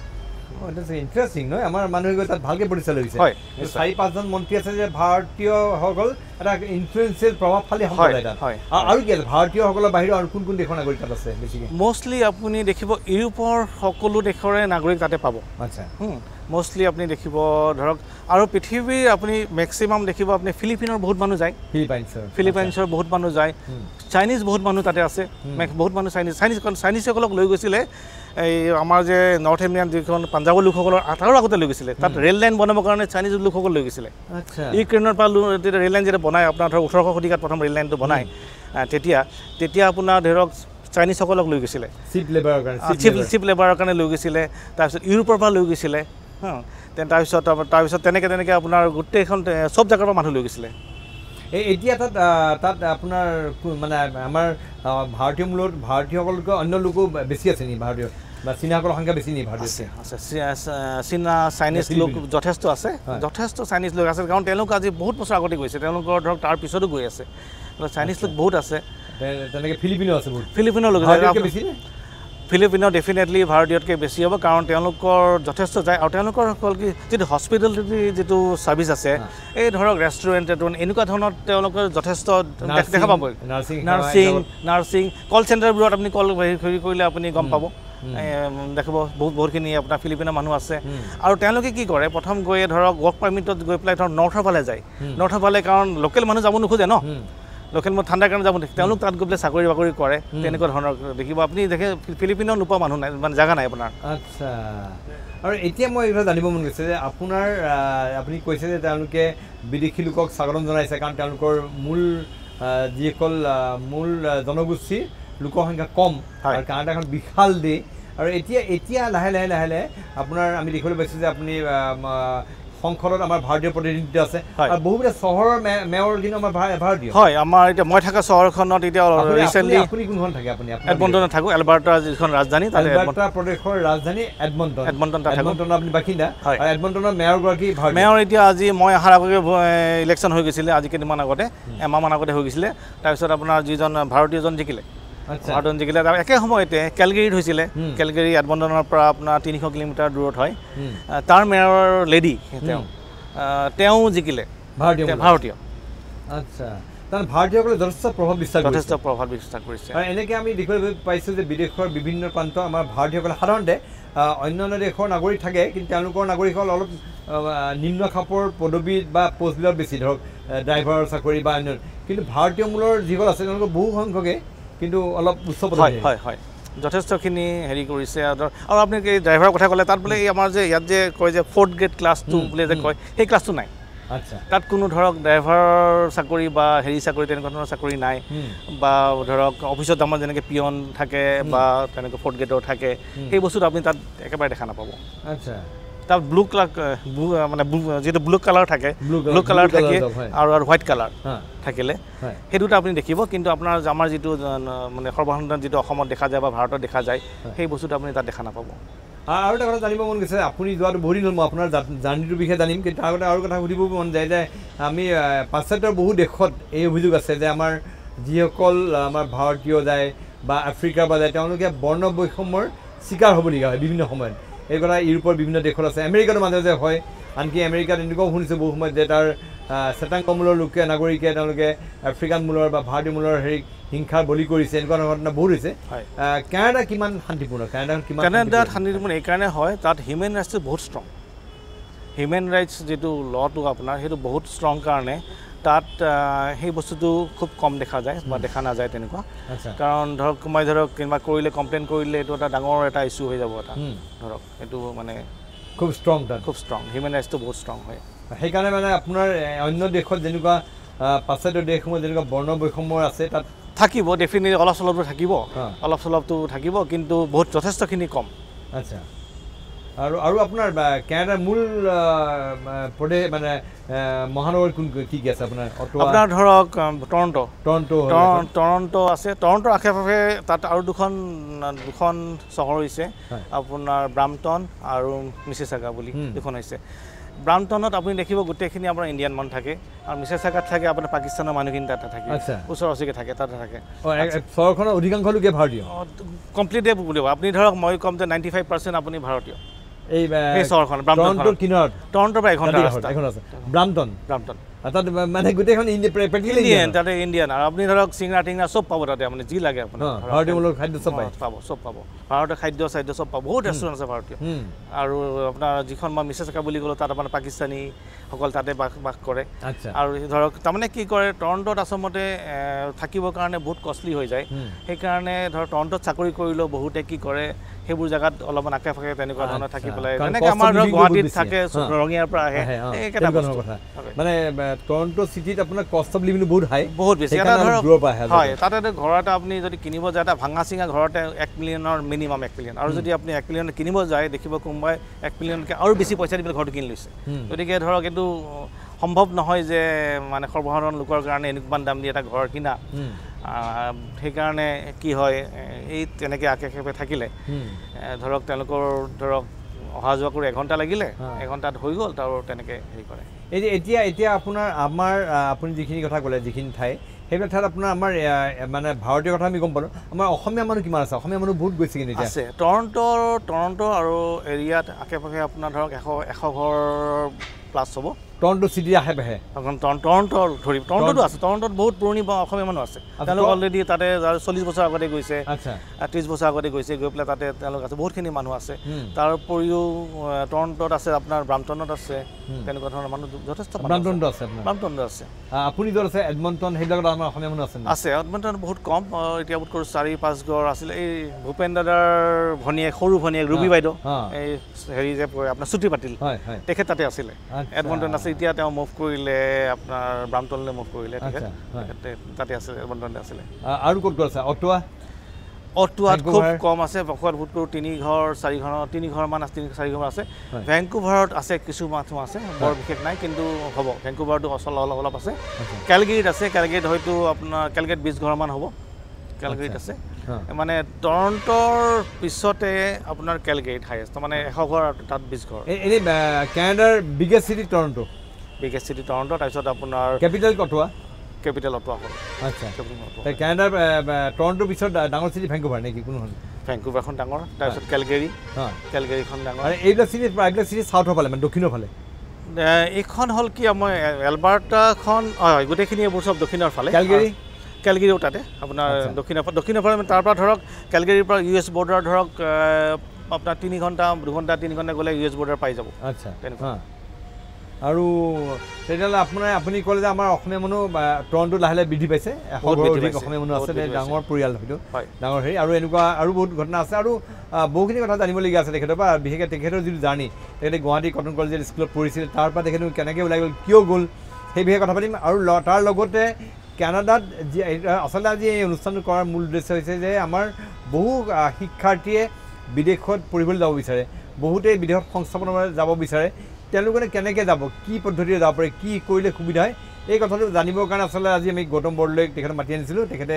ইণ্টাৰেষ্টিং নহয়, আমাৰ মানুহে গৈ তাত ভালকৈ প্ৰতিষ্ঠা লৈছে। হয়, চাৰি পাঁচজন মন্ত্ৰী আছে যে ভাৰতীয়সকল এটা ইনফ্লুৱেঞ্চিয়েল প্ৰভাৱশালী সম্প্ৰদায় তাত। আৰু কি আছে ভাৰতীয়সকলৰ বাহিৰেও আৰু কোন কোন দেশৰ নাগৰিক তাত আছে বেছিকৈ? মষ্টলি আপুনি দেখিব ইউৰোপৰ সকলো দেশৰে নাগৰিক তাতে পাব। আচ্ছা। মষ্টলি আপুনি দেখিব ধৰক, আৰু পৃথিৱীৰ আপুনি মেক্সিমাম দেখিব আপুনি ফিলিপিনৰ বহুত মানুহ যায়, ফিলিপাইনছৰ ফিলিপাইনছৰ বহুত মানুহ যায়, চাইনিজ বহুত মানুহ তাতে আছে, বহুত মানুহ চাইনিজ চাইনিজ চাইনিজসকলক লৈ গৈছিলে এই আমাৰ যে নৰ্থ ইণ্ডিয়ান যিখন পাঞ্জাৱৰ লোকসকলৰ তাৰো আগতে লৈ গৈছিলে, তাত ৰেল লাইন বনাবৰ কাৰণে চাইনিজ লোকসকল লৈ গৈছিলে। ইউক্ৰেইনৰ পৰা যেতিয়া ৰেল লাইন যেতিয়া বনায় আপোনাৰ ধৰক ওঠৰশ শতিকাত প্ৰথম ৰেল লাইনটো বনায়, তেতিয়া তেতিয়া আপোনাৰ ধৰক চাইনিজসকলক লৈ গৈছিলে চিপ লেবাৰৰ কাৰণে, চিপ চিপ লেবাৰৰ কাৰণে লৈ গৈছিলে, তাৰপিছত ইউৰোপৰ পৰা লৈ গৈছিলে, তাৰপিছত তাৰপিছত তেনেকৈ তেনেকৈ আপোনাৰ গোটেইখন চব জেগাৰ পৰা মানুহ লৈ গৈছিলে। এই এতিয়া তাত তাত আপোনাৰ মানে আমাৰ ভাৰতীয় মূলত ভাৰতীয়সকলতকৈ অন্য লোকো বেছি আছে নেকি? ভাৰতীয় বা চীনাসকলৰ সংখ্যা বেছি নেকি? ভাৰতীয় আছে, আছে, চীনা চাইনিজ লোক যথেষ্ট আছে, যথেষ্ট চাইনিজ লোক আছে, কাৰণ তেওঁলোক আজি বহুত বছৰ আগতে গৈছে, তেওঁলোকৰ ধৰক তাৰ পিছতো গৈ আছে, চাইনিজ লোক বহুত আছে। তেনেকৈ ফিলিপিনো আছে বহুত, ফিলিপিনৰ লোক বেছি নে? ফিলিপিনো ডেফিনেটলি ভাৰতীয়তকৈ বেছি হ'ব, কাৰণ তেওঁলোকৰ যথেষ্ট যায়। আৰু তেওঁলোকৰ হ'ল কি যিটো হস্পিটেলিটি যিটো ছাৰ্ভিচ আছে, এই ধৰক ৰেষ্টুৰেণ্ট এনেকুৱা ধৰণৰ তেওঁলোকৰ যথেষ্ট দেখা পাব। নাৰ্ছিং নাৰ্ছিং কল চেণ্টাৰবোৰত আপুনি কল হেৰি কৰিলে আপুনি গম পাব, দেখিব বহুত বহুতখিনি আপোনাৰ ফিলিপিনৰ মানুহ আছে। আৰু তেওঁলোকে কি কৰে, প্ৰথম গৈয়ে ধৰক ৱৰ্ক পাৰ্মিটত গৈ পেলাই ধৰক নৰ্থৰ ফালে যায়, নৰ্থৰ ফালে কাৰণ লোকেল মানুহ যাব নোখোজে ন, লোকেল মানুহ ঠাণ্ডাৰ কাৰণে যাব নোখোজে, তেওঁলোক তাত গৈ পেলাই চাকৰি বাকৰি কৰে, তেনেকুৱা ধৰণৰ দেখিব আপুনি। দেখে ফিলিপিনৰ নোপোৱা মানুহ নাই, মানে জেগা নাই আপোনাৰ। আচ্ছা, আৰু এতিয়া মই এইবিলাক জানিব মন গৈছে যে আপোনাৰ আপুনি কৈছে যে তেওঁলোকে বিদেশী লোকক স্বাগতম জনাইছে, কাৰণ তেওঁলোকৰ মূল যিসকল মূল জনগোষ্ঠীৰ লোকৰ সংখ্যা কম আৰু কানাডা এখন বিশাল দেশ। আৰু এতিয়া এতিয়া লাহে লাহে লাহে লাহে আপোনাৰ আমি দেখিবলৈ পাইছোঁ যে আপুনি সংসদত আমাৰ ভাৰতীয় প্ৰতিনিধিত্ব আছে আৰু বহুবিলাক চহৰৰ মেয়ৰ কিন্তু আমাৰ ভাৰতীয় হয়। আমাৰ এতিয়া মই থকা চহৰখনত এতিয়া ৰিচেণ্টলি আপুনি কোনখন থাকে? আপুনি এডমণ্টনত থাকোঁ, এলবাৰ্টা যিখন ৰাজধানী, তাতে এলবাৰ্টা প্ৰদেশৰ ৰাজধানী এডমণ্টন, এডমণ্টন তাত থাকোঁ। এডমণ্টনৰ আপুনি বাসিন্দা আৰু এডমণ্টনৰ মেয়ৰগৰাকী ভাৰতীয়। মেয়ৰ এতিয়া আজি মই অহাৰ আগতে ইলেকশ্যন হৈ গৈছিলে, আজি কেইদিনমান আগতে, এমাহমান আগতে হৈ গৈছিলে। তাৰপিছত আপোনাৰ যিজন ভাৰতীয়জন জিকিলে, ভাৰতীয়জন জিকিলে। তাৰ একে সময়তে কেলগেৰীত হৈছিলে, কেলগেৰী এডমণ্টনৰ পৰা আপোনাৰ তিনিশ কিলোমিটাৰ দূৰত হয়, তাৰ মেয়ৰ লেডি তেওঁ, তেওঁ জিকিলে, ভাৰতীয় ভাৰতীয়। আচ্ছা, তাৰ ভাৰতীয়সকলে যথেষ্ট প্ৰভাৱ বিস্তাৰ যথেষ্ট প্ৰভাৱ বিস্তাৰ কৰিছে। আৰু এনেকৈ আমি দেখিবলৈ পাইছোঁ যে বিদেশৰ বিভিন্ন প্ৰান্ত আমাৰ ভাৰতীয়সকলে সাধাৰণতে অন্যান্য দেশৰ নাগৰিক থাকে, কিন্তু তেওঁলোকৰ নাগৰিকসকল অলপ নিম্ন খাপৰ পদবী বা পষ্টবিলাক বেছি, ধৰক ড্ৰাইভাৰৰ চাকৰি বা অন্য, কিন্তু ভাৰতীয় মূলৰ যিসকল আছে তেওঁলোকৰ বহু সংখ্যকে কিন্তু অলপ উচ্চ পদবী। হয় হয়, যথেষ্টখিনি হেৰি কৰিছে। আৰু আপুনি এই ড্ৰাইভাৰৰ কথা ক'লে, তাত বোলে এই আমাৰ যে ইয়াত যে কয় যে ফ'ৰ্থ গ্ৰেড ক্লাছটো বোলে যে কয়, সেই ক্লাছটো নাই। আচ্ছা, তাত কোনো ধৰক ড্ৰাইভাৰৰ চাকৰি বা হেৰি চাকৰি তেনেকুৱা ধৰণৰ চাকৰি নাই, বা ধৰক অফিচত আমাৰ যেনেকৈ পিয়ন থাকে বা তেনেকৈ ফ'ৰ্থ গ্ৰেডৰ থাকে, সেই বস্তুটো আপুনি তাত একেবাৰে দেখা নাপাব। আচ্ছা, তাত ব্লু কালাৰ, মানে যিটো ব্লু কালাৰ থাকে, ব্লু কালাৰ থাকে আৰু আৰু হোৱাইট কালাৰ থাকিলে সেইটোত আপুনি দেখিব। কিন্তু আপোনাৰ আমাৰ যিটো মানে সৰ্বসাধাৰণ যিটো অসমত দেখা যায় বা ভাৰতত দেখা যায়, সেই বস্তুটো আপুনি তাত দেখা নাপাব। আৰু এটা কথা জানিব মন গৈছে, আপুনি যোৱাটো বহুত দিন হ'ল, মই আপোনাৰ জাৰ্ণিটোৰ বিষয়ে জানিম, কিন্তু তাৰ আগতে আৰু কথা সুধিব মন যায় যে আমি পাশ্চাত্যৰ বহু দেশত এই অভিযোগ আছে যে আমাৰ যিসকল আমাৰ ভাৰতীয় যায় বা আফ্ৰিকাৰ পৰা যায়, তেওঁলোকে বৰ্ণ বৈষম্যৰ চিকাৰ হ'বলগীয়া হয় বিভিন্ন সময়ত। এই কথা ইউৰোপৰ বিভিন্ন দেশত আছে, আমেৰিকাতো মাজে মাজে হয়। আনকি আমেৰিকাত এনেকুৱাও শুনিছোঁ বহু সময়ত যে তাৰ শ্বেতাংগ মূলৰ লোকে নাগৰিকে তেওঁলোকে আফ্ৰিকান মূলৰ বা ভাৰতীয় মূলৰ হেৰি হিংসাৰ বলি কৰিছে, এনেকুৱা ধৰণৰ ঘটনা বহুত হৈছে। কানাডা কিমান শান্তিপূৰ্ণ? কানাডা কিমান কানাডাত শান্তিপূৰ্ণ এইকাৰণে হয়, তাত হিউমেন ৰাইটছটো বহুত ষ্ট্ৰং। হিউমেন ৰাইটছ যিটো ল'টো আপোনাৰ সেইটো বহুত ষ্ট্ৰং কাৰণে তাত সেই বস্তুটো খুব কম দেখা যায় বা দেখা নাযায় তেনেকুৱা। কাৰণ ধৰক কোনোবাই ধৰক কিবা কৰিলে, কমপ্লেইন কৰিলে এইটো এটা ডাঙৰ এটা ইছ্যু হৈ যাব এটা, ধৰক এইটো মানে খুব ষ্ট্ৰং, তাত খুব ষ্ট্ৰং হিউমেন ৰাইটছটো বহুত ষ্ট্ৰং হয়। সেইকাৰণে মানে আপোনাৰ অন্য দেশত যেনেকুৱা পাশ্চাত্য দেশসমূহত যেনেকুৱা বৰ্ণ বৈষম্য আছে তাত থাকিব, ডেফিনেটলি অলপ চলপটো থাকিব, অলপ চলপটো থাকিব, কিন্তু বহুত যথেষ্টখিনি কম। আচ্ছা, আৰু আৰু আপোনাৰ কানাডাৰ মূল প্ৰদেশ মানে মহানগৰ কোন কি কি আছে আপোনাৰ? আপোনাৰ ধৰক টৰণ্টো, টৰণ্টো টৰণ্টো আছে, টৰণ্টোৰ আশে পাশে তাত আৰু দুখন দুখন চহৰ হৈছে আপোনাৰ ব্ৰাম্পটন আৰু মিচিচাগা বুলি দুখন হৈছে। ব্ৰাম্পটনত আপুনি দেখিব গোটেইখিনি আপোনাৰ ইণ্ডিয়ান মানুহ থাকে, আৰু মিচিচাগাত থাকে আপোনাৰ পাকিস্তানৰ মানুহখিনি তাতে থাকে, ওচৰা ওচৰিকৈ থাকে, তাতে থাকে। চহৰখনৰ অধিকাংশ লোকে ভাৰতীয়, কমপ্লিটে বুলিব আপুনি ধৰক মই ক'ম যে নাইণ্টি ফাইভ পাৰ্চেণ্ট আপুনি ভাৰতীয় এই এই চহৰখন টৰণ্টোৰ কিনাৰত, টৰণ্টোৰ পৰা এঘণ্টা ৰাস্তা এখন আছে ব্ৰাম্পটন, ব্ৰাম্পটন তাত মানে গোটেইখন ইণ্ডিয়ান, তাতে ইণ্ডিয়ান। আৰু আপুনি ধৰক চিঙৰা টিঙৰা চব পাব তাতে, আপুনি যি লাগে আপুনি ভাৰতীয় মূলৰ খাদ্য চব পায়, পাব, চব পাব, ভাৰতীয় খাদ্য চাদ্য চব পাব, বহুত ৰেষ্টুৰেণ্ট আছে ভাৰতীয়। আৰু আপোনাৰ যিখন মই মিছেছকা বুলি ক'লোঁ তাত আপোনাৰ পাকিস্তানীসকল তাতে বাস বাস কৰে। আৰু ধৰক তাৰমানে কি কৰে, টৰণ্টোত আচলতে থাকিবৰ কাৰণে বহুত কষ্টলি হৈ যায়, সেইকাৰণে ধৰক টৰণ্টোত চাকৰি কৰিলেও বহুতে কি কৰে সেইবোৰ জেগাত অলপমান আশে পাশে তেনেকুৱা ধৰণৰ থাকি পেলাই, যেনেকৈ আমাৰ ধৰক গুৱাহাটীত থাকে, ৰঙিয়াৰ পৰা আহে, একেটা কথা। মানে টৰণ্টো চিটিত আপোনাৰ কষ্ট অফ লিভিং বহুত হাই, বহুত বেছি। এটা ধৰক হয়, তাতে ঘৰ এটা আপুনি যদি কিনিব যায়, এটা ভাঙা চিঙা ঘৰতে এক মিলিয়নৰ মিনিমাম এক মিলিয়ন, আৰু যদি আপুনি এক মিলিয়ন কিনিব যায় দেখিব কোনোবাই এক মিলিয়নকৈ আৰু বেছি পইচা দি পেলাই ঘৰটো কিনি লৈছে। গতিকে ধৰক এইটো সম্ভৱ নহয় যে মানে সৰ্বসাধাৰণ লোকৰ কাৰণে এনেকুৱা দাম দি এটা ঘৰ কিনা। সেইকাৰণে কি হয়, এই তেনেকৈ আশে পাশে থাকিলে ধৰক তেওঁলোকৰ ধৰক অহা যোৱা কৰি এঘণ্টা লাগিলে, এঘণ্টাত হৈ গ'ল, তাৰ তেনেকৈ হেৰি কৰে। এই এতিয়া এতিয়া আপোনাৰ আমাৰ আপুনি যিখিনি কথা ক'লে, যিখিনি ঠাই সেইবিলাক ঠাইত আপোনাৰ আমাৰ মানে ভাৰতীয় কথা আমি গম পালোঁ, আমাৰ অসমীয়া মানুহ কিমান আছে? অসমীয়া মানুহ বহুত গৈছে কিন্তু আছে টৰণ্টোৰ, টৰণ্টো আৰু এৰিয়াত আশে পাশে আপোনাৰ ধৰক এশ এশ ঘৰ প্লাছ হ'ব। টৰণ্টো চিটিৰ আশে পাশে টৰণ্টো ধৰি টৰণ্টোতো আছে, টৰণ্টোত বহুত পুৰণি অসমীয়া মানুহ আছে, তেওঁলোক অলৰেডি তাতে চল্লিছ বছৰ আগতে গৈছে, ত্ৰিছ বছৰ আগতে গৈছে, গৈ পেলাই তাতে তেওঁলোক আছে, বহুতখিনি মানুহ আছে। তাৰ উপৰিও টৰণ্টোত আছে, আপোনাৰ ব্ৰাম্পটনত আছে, তেনেকুৱা ধৰণৰ মানুহ যথেষ্ট। ব্ৰাম্পটনটো আছে, ব্ৰাম্পটনটো আছে। আপুনি য'ত আছে এডমণ্টন, সেইবিলাকত আমাৰ অসমীয়া মানুহ আছে? আছে, এডমণ্টনত বহুত কম, এতিয়া বোধ কৰোঁ চাৰি পাঁচ ঘৰ আছিলে। এই ভূপেন দাদাৰ ভনীয়েক, সৰু ভনীয়েক ৰুবি বাইদেউ, এই হেৰি যে আপোনাৰ চুটি পাতিল, তেখেত তাতে আছিলে, এডমণ্টন আছে। এতিয়া তেওঁ মুভ কৰিলে আপোনাৰ ব্ৰাম্পটনলৈ মুভ কৰিলে, তেখেত তাতে আছিলে, এডমণ্টনতে আছিলে। আৰু ক'ত ক'ত আছে? অটোৱা, অটোৱাত খুব কম আছে, অটোৱাত বহুত কৰোঁ তিনি ঘৰ চাৰি ঘৰ তিনি ঘৰমান আছে, তিনি চাৰি ঘৰ আছে। ভেংকুভাৰত আছে কিছু মানুহ আছে, বৰ বিশেষ নাই কিন্তু হ'ব। ভেংকুভাৰটো অচল অলপ অলপ আছে। কেলগেৰীত আছে, কেলগেৰীত হয়তো আপোনাৰ কেলগেৰীত বিছ ঘৰমান হ'ব, কেলগেৰীত আছে। মানে টৰণ্টৰ পিছতে আপোনাৰ কেলগেৰীত হাইয়েষ্ট, মানে এশ ঘৰ তাত বিছ ঘৰ। এনেই কানাডাৰ biggest city Toronto, biggest city Toronto, তাৰপিছত আপোনাৰ কেপিটেল অটোৱা, কেপিটেল অটোৱা হ'ল। আচ্ছা, কানাডাৰ টৰণ্টোৰ পিছত ডাঙৰ চিটি ভেংকুভাৰ নেকি কোনখন? ভেংকুভাৰখন ডাঙৰ, তাৰপিছত কেলগেৰী, কেলগেৰীখন ডাঙৰ। আৰু এইবিলাক চিটি এইবিলাক চিটি চাউথৰ ফালে মানে দক্ষিণৰ ফালে। এইখন হ'ল কি আমাৰ এলবাৰ্টাখন, হয় গোটেইখিনি এইবোৰ চব দক্ষিণৰ ফালে। কেলগেৰী, কেলগেৰীও তাতে আপোনাৰ দক্ষিণৰ দক্ষিণৰ ফালে। তাৰ পৰা ধৰক কেলগেৰীৰ পৰা ইউ এছ বৰ্ডাৰ ধৰক আপোনাৰ তিনি ঘণ্টা দুঘণ্টা তিনি ঘণ্টা গ'লে ইউ এছ বৰ্ডাৰ পাই যাব। আচ্ছা, তেনেকুৱা। আৰু তেতিয়াহ'লে আপোনাৰ আপুনি ক'লে যে আমাৰ অসমীয়া মানুহ টৰণ্টো লাহে লাহে বৃদ্ধি পাইছে, এশ অধিক অসমীয়া মানুহ আছে, ডাঙৰ পৰিয়াল হয়তো ডাঙৰ হেৰি। আৰু এনেকুৱা আৰু বহুত ঘটনা আছে আৰু বহুখিনি কথা জানিবলগীয়া আছে তেখেতৰ পৰা। বিশেষকৈ তেখেতৰ যিটো জাৰ্ণি, তেখেতে গুৱাহাটী কটন কলেজৰ স্কুলত পঢ়িছিল, তাৰ পৰা তেখেতে কেনেকৈ ওলাই গ'ল, কিয় গ'ল, সেই বিষয়ে কথা পাতিম। আৰু তাৰ লগতে কানাডাত যি আচলতে আজি এই অনুষ্ঠানটো কৰাৰ মূল উদ্দেশ্য হৈছে যে আমাৰ বহু শিক্ষাৰ্থীয়ে বিদেশত পঢ়িবলৈ যাব বিচাৰে, বহুতেই বিদেশত সংস্থাপনৰ বাবে যাব বিচাৰে, তেওঁলোকে কেনেকৈ যাব, কি পদ্ধতিৰে যাব পাৰে, কি কৰিলে সুবিধা হয়, এই কথাটো জানিবৰ কাৰণে আচলতে আজি আমি গৌতম বৰদলৈক তেখেতক মাতি আনিছিলোঁ। তেখেতে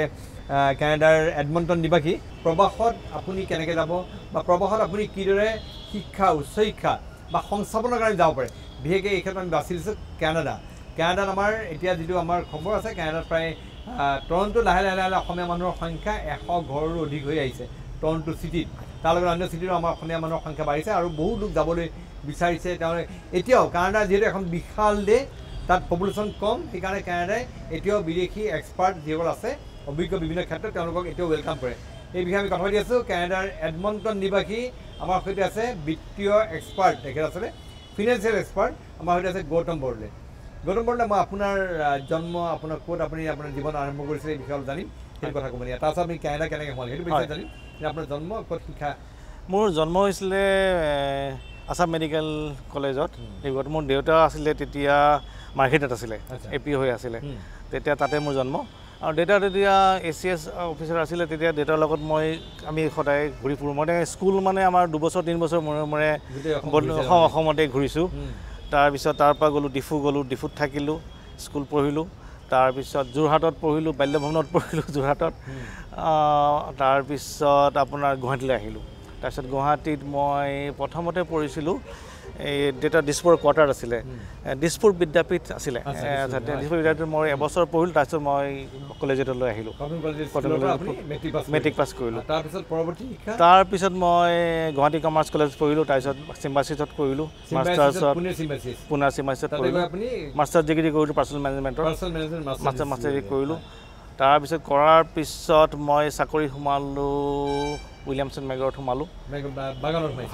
কানাডাৰ এডমণ্টন নিবাসী। প্ৰবাসত আপুনি কেনেকৈ যাব বা প্ৰবাসত আপুনি কিদৰে শিক্ষা, উচ্চ শিক্ষা বা সংস্থাপনৰ কাৰণে যাব পাৰে, বিশেষকৈ এই ক্ষেত্ৰত আমি বাছি লৈছোঁ কানাডা। কানাডাত আমাৰ এতিয়া যিটো আমাৰ খবৰ আছে, কানাডাত প্ৰায় টৰণ্টো লাহে লাহে লাহে লাহে অসমীয়া মানুহৰ সংখ্যা এশ ঘৰৰো অধিক হৈ আহিছে টৰণ্টো চিটিত। তাৰ লগত অন্য চিটিতো আমাৰ অসমীয়া মানুহৰ সংখ্যা বাঢ়িছে আৰু বহু লোক যাবলৈ বিচাৰিছে। তেওঁলোকে এতিয়াও কানাডা যিহেতু এখন বিশাল দেশ, তাত পপুলেশ্যন কম, সেইকাৰণে কানাডাই এতিয়াও বিদেশী এক্সপাৰ্ট যিসকল আছে অভিজ্ঞ বিভিন্ন ক্ষেত্ৰত তেওঁলোকক এতিয়াও welcome কৰে। এই বিষয়ে আমি কথা পাতি আছোঁ। কানাডাৰ এডমণ্টন নিবাসী আমাৰ সৈতে আছে বিত্তীয় এক্সপাৰ্ট, তেখেত আচলতে ফিনেন্সিয়েল এক্সপাৰ্ট, আমাৰ সৈতে আছে গৌতম বৰদলৈ। গৌতম বৰদলৈ, মই আপোনাৰ জন্ম, আপোনাৰ ক'ত আপুনি আপোনাৰ জীৱন আৰম্ভ কৰিছিলে এই বিষয়ে অলপ জানিম, সেইটো কথা ক'ব নেকি? তাৰপিছত আপুনি কানাডা কেনেকৈ সোমালে সেইটো বিষয়ে জানিম। আপোনাৰ জন্ম ক'ত, শিক্ষা? মোৰ জন্ম হৈছিলে আছাম মেডিকেল কলেজত, ডিব্ৰুগড়ত। মোৰ দেউতা আছিলে তেতিয়া মাৰ্কেটত আছিলে, এ পি হৈ আছিলে তেতিয়া, তাতে মোৰ জন্ম। আৰু দেউতা তেতিয়া এ চি এছ অফিচাৰ আছিলে, তেতিয়া দেউতাৰ লগত মই আমি সদায় ঘূৰি ফুৰোঁ। মই স্কুল মানে আমাৰ দুবছৰ তিনি বছৰ মূৰে মূৰে অসমতে ঘূৰিছোঁ। তাৰপিছত তাৰপৰা গ'লোঁ ডিফু, গ'লোঁ ডিফুত থাকিলোঁ, স্কুল পঢ়িলোঁ। তাৰপিছত যোৰহাটত পঢ়িলোঁ, বাল্যভৱনত পঢ়িলোঁ যোৰহাটত। তাৰপিছত আপোনাৰ গুৱাহাটীলৈ আহিলোঁ। তাৰপিছত গুৱাহাটীত মই প্ৰথমতে পঢ়িছিলোঁ, এই দেউতা দিছপুৰ কোৱাৰ্টাৰ আছিলে, দিছপুৰ বিদ্যাপীঠ আছিলে, দিছপুৰ বিদ্যাপীঠত মই এবছৰ পঢ়িলোঁ। তাৰপিছত মই কলেজলৈ আহিলোঁ, মেট্ৰিক পাছ কৰিলোঁ। তাৰপিছত মই গুৱাহাটী কমাৰ্চ কলেজ পঢ়িলোঁ, তাৰপিছত চিম্বাচিছত কৰিলোঁ মাষ্টাৰ্ছত, পুনাৰ চিম্বাচিছত কৰিলোঁ, মাষ্টাৰ্ছ ডিগ্ৰী কৰিলোঁ পাৰ্চনেল মেনেজমেণ্টৰ, মাষ্টাৰ মাষ্টাৰ ডিগ্ৰী কৰিলোঁ। তাৰপিছত কৰাৰ পিছত মই চাকৰি সোমালোঁ, উইলিয়ামছন মেগৰত সোমালোঁ,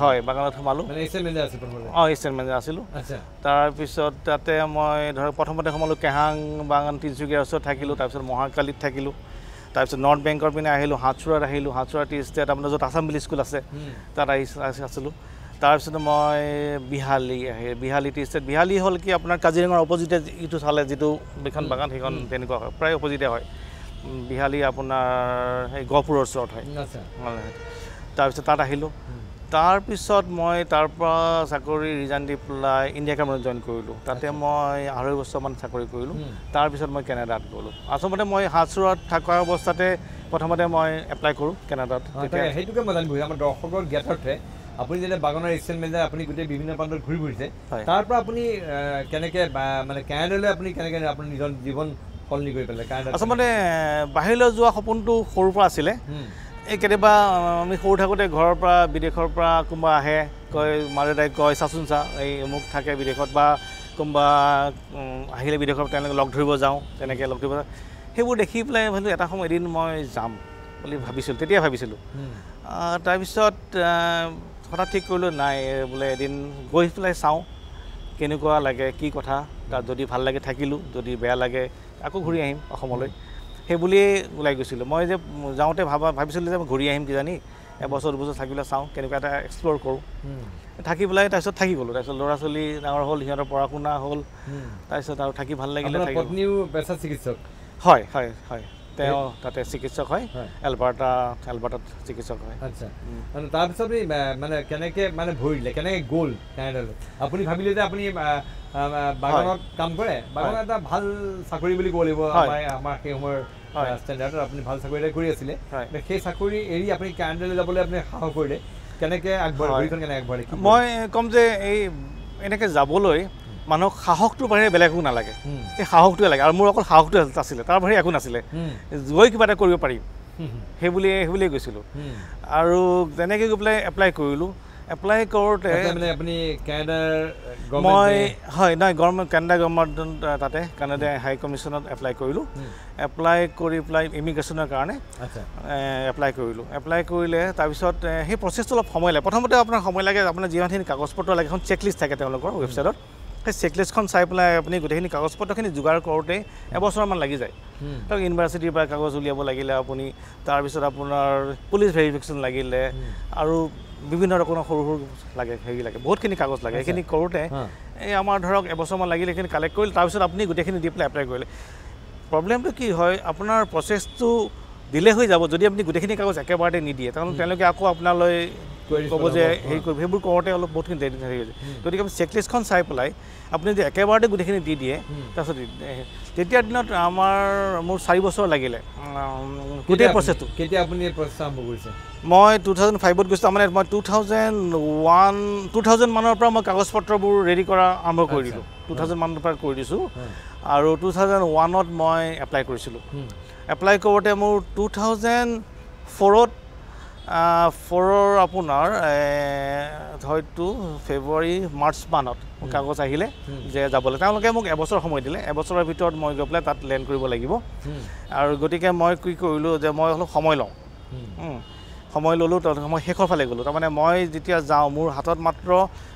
হয় বাগানত সোমালোঁ, অঁ এছিষ্টেণ্ট মেনেজাৰ আছিলোঁ। তাৰপিছত তাতে মই ধৰক প্ৰথমতে সোমালোঁ কেহাং বাগান তিনিচুকীয়াৰ ওচৰত থাকিলোঁ, তাৰপিছত মহাকালীত থাকিলোঁ, তাৰপিছত নৰ্থ বেংকৰ পিনে আহিলোঁ, হাতচোৰাত আহিলোঁ, হাতচোৰা টি ষ্টেট আপোনাৰ য'ত আছাম ভিলেজ স্কুল আছে তাত আহি আছিলোঁ। তাৰপিছত মই বিহালী আহি বিহালী টি ষ্টেট, বিহালী হ'ল কি আপোনাৰ কাজিৰঙাৰ অপজিটে ইটো চালে যিটো এইখন বাগান সেইখন তেনেকুৱা হয়, প্ৰায় অপজিটে হয়। বিহালী আপোনাৰ সেই গহপুৰৰ ওচৰত হয়। তাৰপিছত তাত আহিলোঁ। তাৰপিছত মই তাৰপৰা চাকৰি ৰিজাইন দি পেলাই ইণ্ডিয়া কেমেৰত জইন কৰিলোঁ। তাতে মই আঢ়ৈ বছৰমান চাকৰি কৰিলোঁ। তাৰপিছত মই কেনেডাত গ'লোঁ। আচলতে মই হাতচোৰাত থকা অৱস্থাতে প্ৰথমতে মই এপ্লাই কৰোঁ কেনেডাত। সেইটোকে মই জানিব আমাৰ দৰ্শকৰ জ্ঞাতাৰ্থে, আপুনি যেতিয়া বাগানৰ এছিষ্টেণ্ট মেনেজাৰ, আপুনি গোটেই বিভিন্ন প্ৰান্তত ঘূৰি ফুৰিছে, তাৰ পৰা আপুনি কেনেকৈ মানে কেনেডালৈ আপুনি কেনেকৈ আপোনাৰ নিজৰ জীৱন সলনি কৰি পেলালে? আচলতে বাহিৰলৈ যোৱা সপোনটো সৰুৰ পৰা আছিলে। এই কেতিয়াবা আমি সৰু থাকোঁতে ঘৰৰ পৰা বিদেশৰ পৰা কোনোবা আহে, কয় মা দেউতাই কয় চাচোন চা এই মোক থাকে বিদেশত, বা কোনোবা আহিলে বিদেশৰ তেওঁলোকে লগ ধৰিব যাওঁ, তেনেকৈ লগ ধৰিব যাওঁ, সেইবোৰ দেখি পেলাই ভাবিলোঁ এটা সময় এদিন মই যাম বুলি ভাবিছিলোঁ, তেতিয়াই ভাবিছিলোঁ। তাৰপিছত হঠাৎ ঠিক কৰিলোঁ নাই বোলে এদিন গৈ পেলাই চাওঁ কেনেকুৱা লাগে কি কথা, তাত যদি ভাল লাগে থাকিলোঁ, যদি বেয়া লাগে আকৌ ঘূৰি আহিম অসমলৈ, সেই বুলিয়েই ওলাই গৈছিলোঁ। মই যে যাওঁতে ভাবা ভাবিছিলোঁ যে মই ঘূৰি আহিম কিজানি এবছৰ দুবছৰ থাকি পেলাই চাওঁ কেনেকুৱা এটা এক্সপ্ল'ৰ কৰোঁ, থাকি পেলাই তাৰপিছত থাকি গ'লোঁ। তাৰপিছত ল'ৰা ছোৱালী ডাঙৰ হ'ল, সিহঁতৰ পঢ়া শুনা হ'ল, তাৰপিছত আৰু থাকি ভাল লাগিলে। পত্নীও পেছা চিকিৎসক? হয় হয় হয়, তেওঁ তাতে চিকিৎসক হয়, এলবাৰ্টা এলবাৰ্টাত চিকিৎসক হয়। আচ্ছা, মানে তাৰপিছত মানে কেনেকৈ মানে ভৰি দিলে, কেনেকৈ গ'ল কানাডালৈ? আপুনি ভাবিলে যে আপুনি বাগানত কাম কৰে, বাগানত এটা ভাল চাকৰি বুলি ক'ব লাগিব, আমাৰ আমাৰ সেই সময়ৰ ষ্টেণ্ডাৰ্ডত আপুনি ভাল চাকৰি এটা কৰি আছিলে। সেই চাকৰি এৰি আপুনি কানাডালৈ যাবলৈ আপুনি সাহস কৰিলে, কেনেকৈ আগবাঢ়িলে, ভৰিখন কেনেকৈ আগবাঢ়িলে? মই ক'ম যে এই এনেকৈ যাবলৈ মানুহক সাহসটোৰ বাহিৰে বেলেগ একো নালাগে, সেই সাহসটোৱে লাগে। আৰু মোৰ অকল সাহসটোৱে আছিলে, তাৰ বাহিৰে একো নাছিলে। গৈ কিবা এটা কৰিব পাৰিম সেই বুলিয়ে সেই বুলিয়ে গৈছিলোঁ। আৰু তেনেকৈ গৈ পেলাই এপ্লাই কৰিলোঁ। এপ্লাই কৰোঁতে আপুনি কানাডাৰ মই হয় নহয় গভৰ্ণমেণ্ট কানাডা গভৰ্ণমেণ্ট তাতে কানাডা হাই কমিশ্যনত এপ্লাই কৰিলোঁ। এপ্লাই কৰি পেলাই ইমিগ্ৰেশ্যনৰ কাৰণে এপ্লাই কৰিলোঁ। এপ্লাই কৰিলে তাৰপিছত সেই প্ৰচেছটো অলপ সময় লাগে। প্ৰথমতে আপোনাৰ সময় লাগে, আপোনাৰ যিমানখিনি কাগজ পত্ৰ লাগে, এখন চেকলিষ্ট থাকে তেওঁলোকৰ ৱেবছাইটত, সেই চেকলিষ্টখন চাই পেলাই আপুনি গোটেইখিনি কাগজ পত্ৰখিনি যোগাৰ কৰোঁতে এবছৰমান লাগি যায়। ধৰক ইউনিভাৰ্চিটিৰ পৰা কাগজ উলিয়াব লাগিলে আপুনি, তাৰপিছত আপোনাৰ পুলিচ ভেৰিফিকেশ্যন লাগিলে, আৰু বিভিন্ন ৰকমৰ সৰু সৰু লাগে, হেৰি লাগে, বহুতখিনি কাগজ লাগে। সেইখিনি কৰোঁতে এই আমাৰ ধৰক এবছৰমান লাগিলে, সেইখিনি কালেক্ট কৰিলে, তাৰপিছত আপুনি গোটেইখিনি দি পেলাই এপ্লাই কৰিলে। প্ৰব্লেমটো কি হয়, আপোনাৰ প্ৰচেছটো ডিলে হৈ যাব যদি আপুনি গোটেইখিনি কাগজ একেবাৰতে নিদিয়ে। কাৰণ তেওঁলোকে আকৌ আপোনালৈ ক'ব যে হেৰি কৰিব, সেইবোৰ কৰোঁতে অলপ বহুতখিনি দেৰি হৈ যায়। গতিকে আপুনি চেকলিষ্টখন চাই পেলাই আপুনি যদি একেবাৰতে গোটেইখিনি দি দিয়ে, তাৰপিছত তেতিয়াৰ দিনত আমাৰ মোৰ চাৰি বছৰ লাগিলে গোটেই প্ৰচেছটো। কেতিয়া আপুনি প্ৰচেছ আৰম্ভ কৰিছে? মই টু থাউজেণ্ড ফাইভত গৈছিলোঁ, তাৰমানে মই two thousand one two thousand মানৰ পৰা মই কাগজ পত্ৰবোৰ ৰেডি কৰা আৰম্ভ কৰি দিলোঁ। টু থাউজেণ্ড মানৰ পৰা কৰি দিছোঁ আৰু টু থাউজেণ্ড ওৱানত মই এপ্লাই কৰিছিলোঁ। এপ্লাই কৰোঁতে মোৰ টু থাউজেণ্ড ফ'ৰত ফ'ৰৰ আপোনাৰ হয়তো ফেব্ৰুৱাৰী মাৰ্চ মানত মোৰ কাগজ আহিলে যে যাবলৈ। তেওঁলোকে মোক এবছৰ সময় দিলে, এবছৰৰ ভিতৰত মই গৈ পেলাই তাত লেণ্ড কৰিব লাগিব। আৰু গতিকে মই কি কৰিলোঁ যে মই অলপ সময় লওঁ, সময় ল'লোঁ। মই শেষৰ ফালে গ'লোঁ, তাৰমানে মই যেতিয়া যাওঁ মোৰ হাতত মাত্ৰ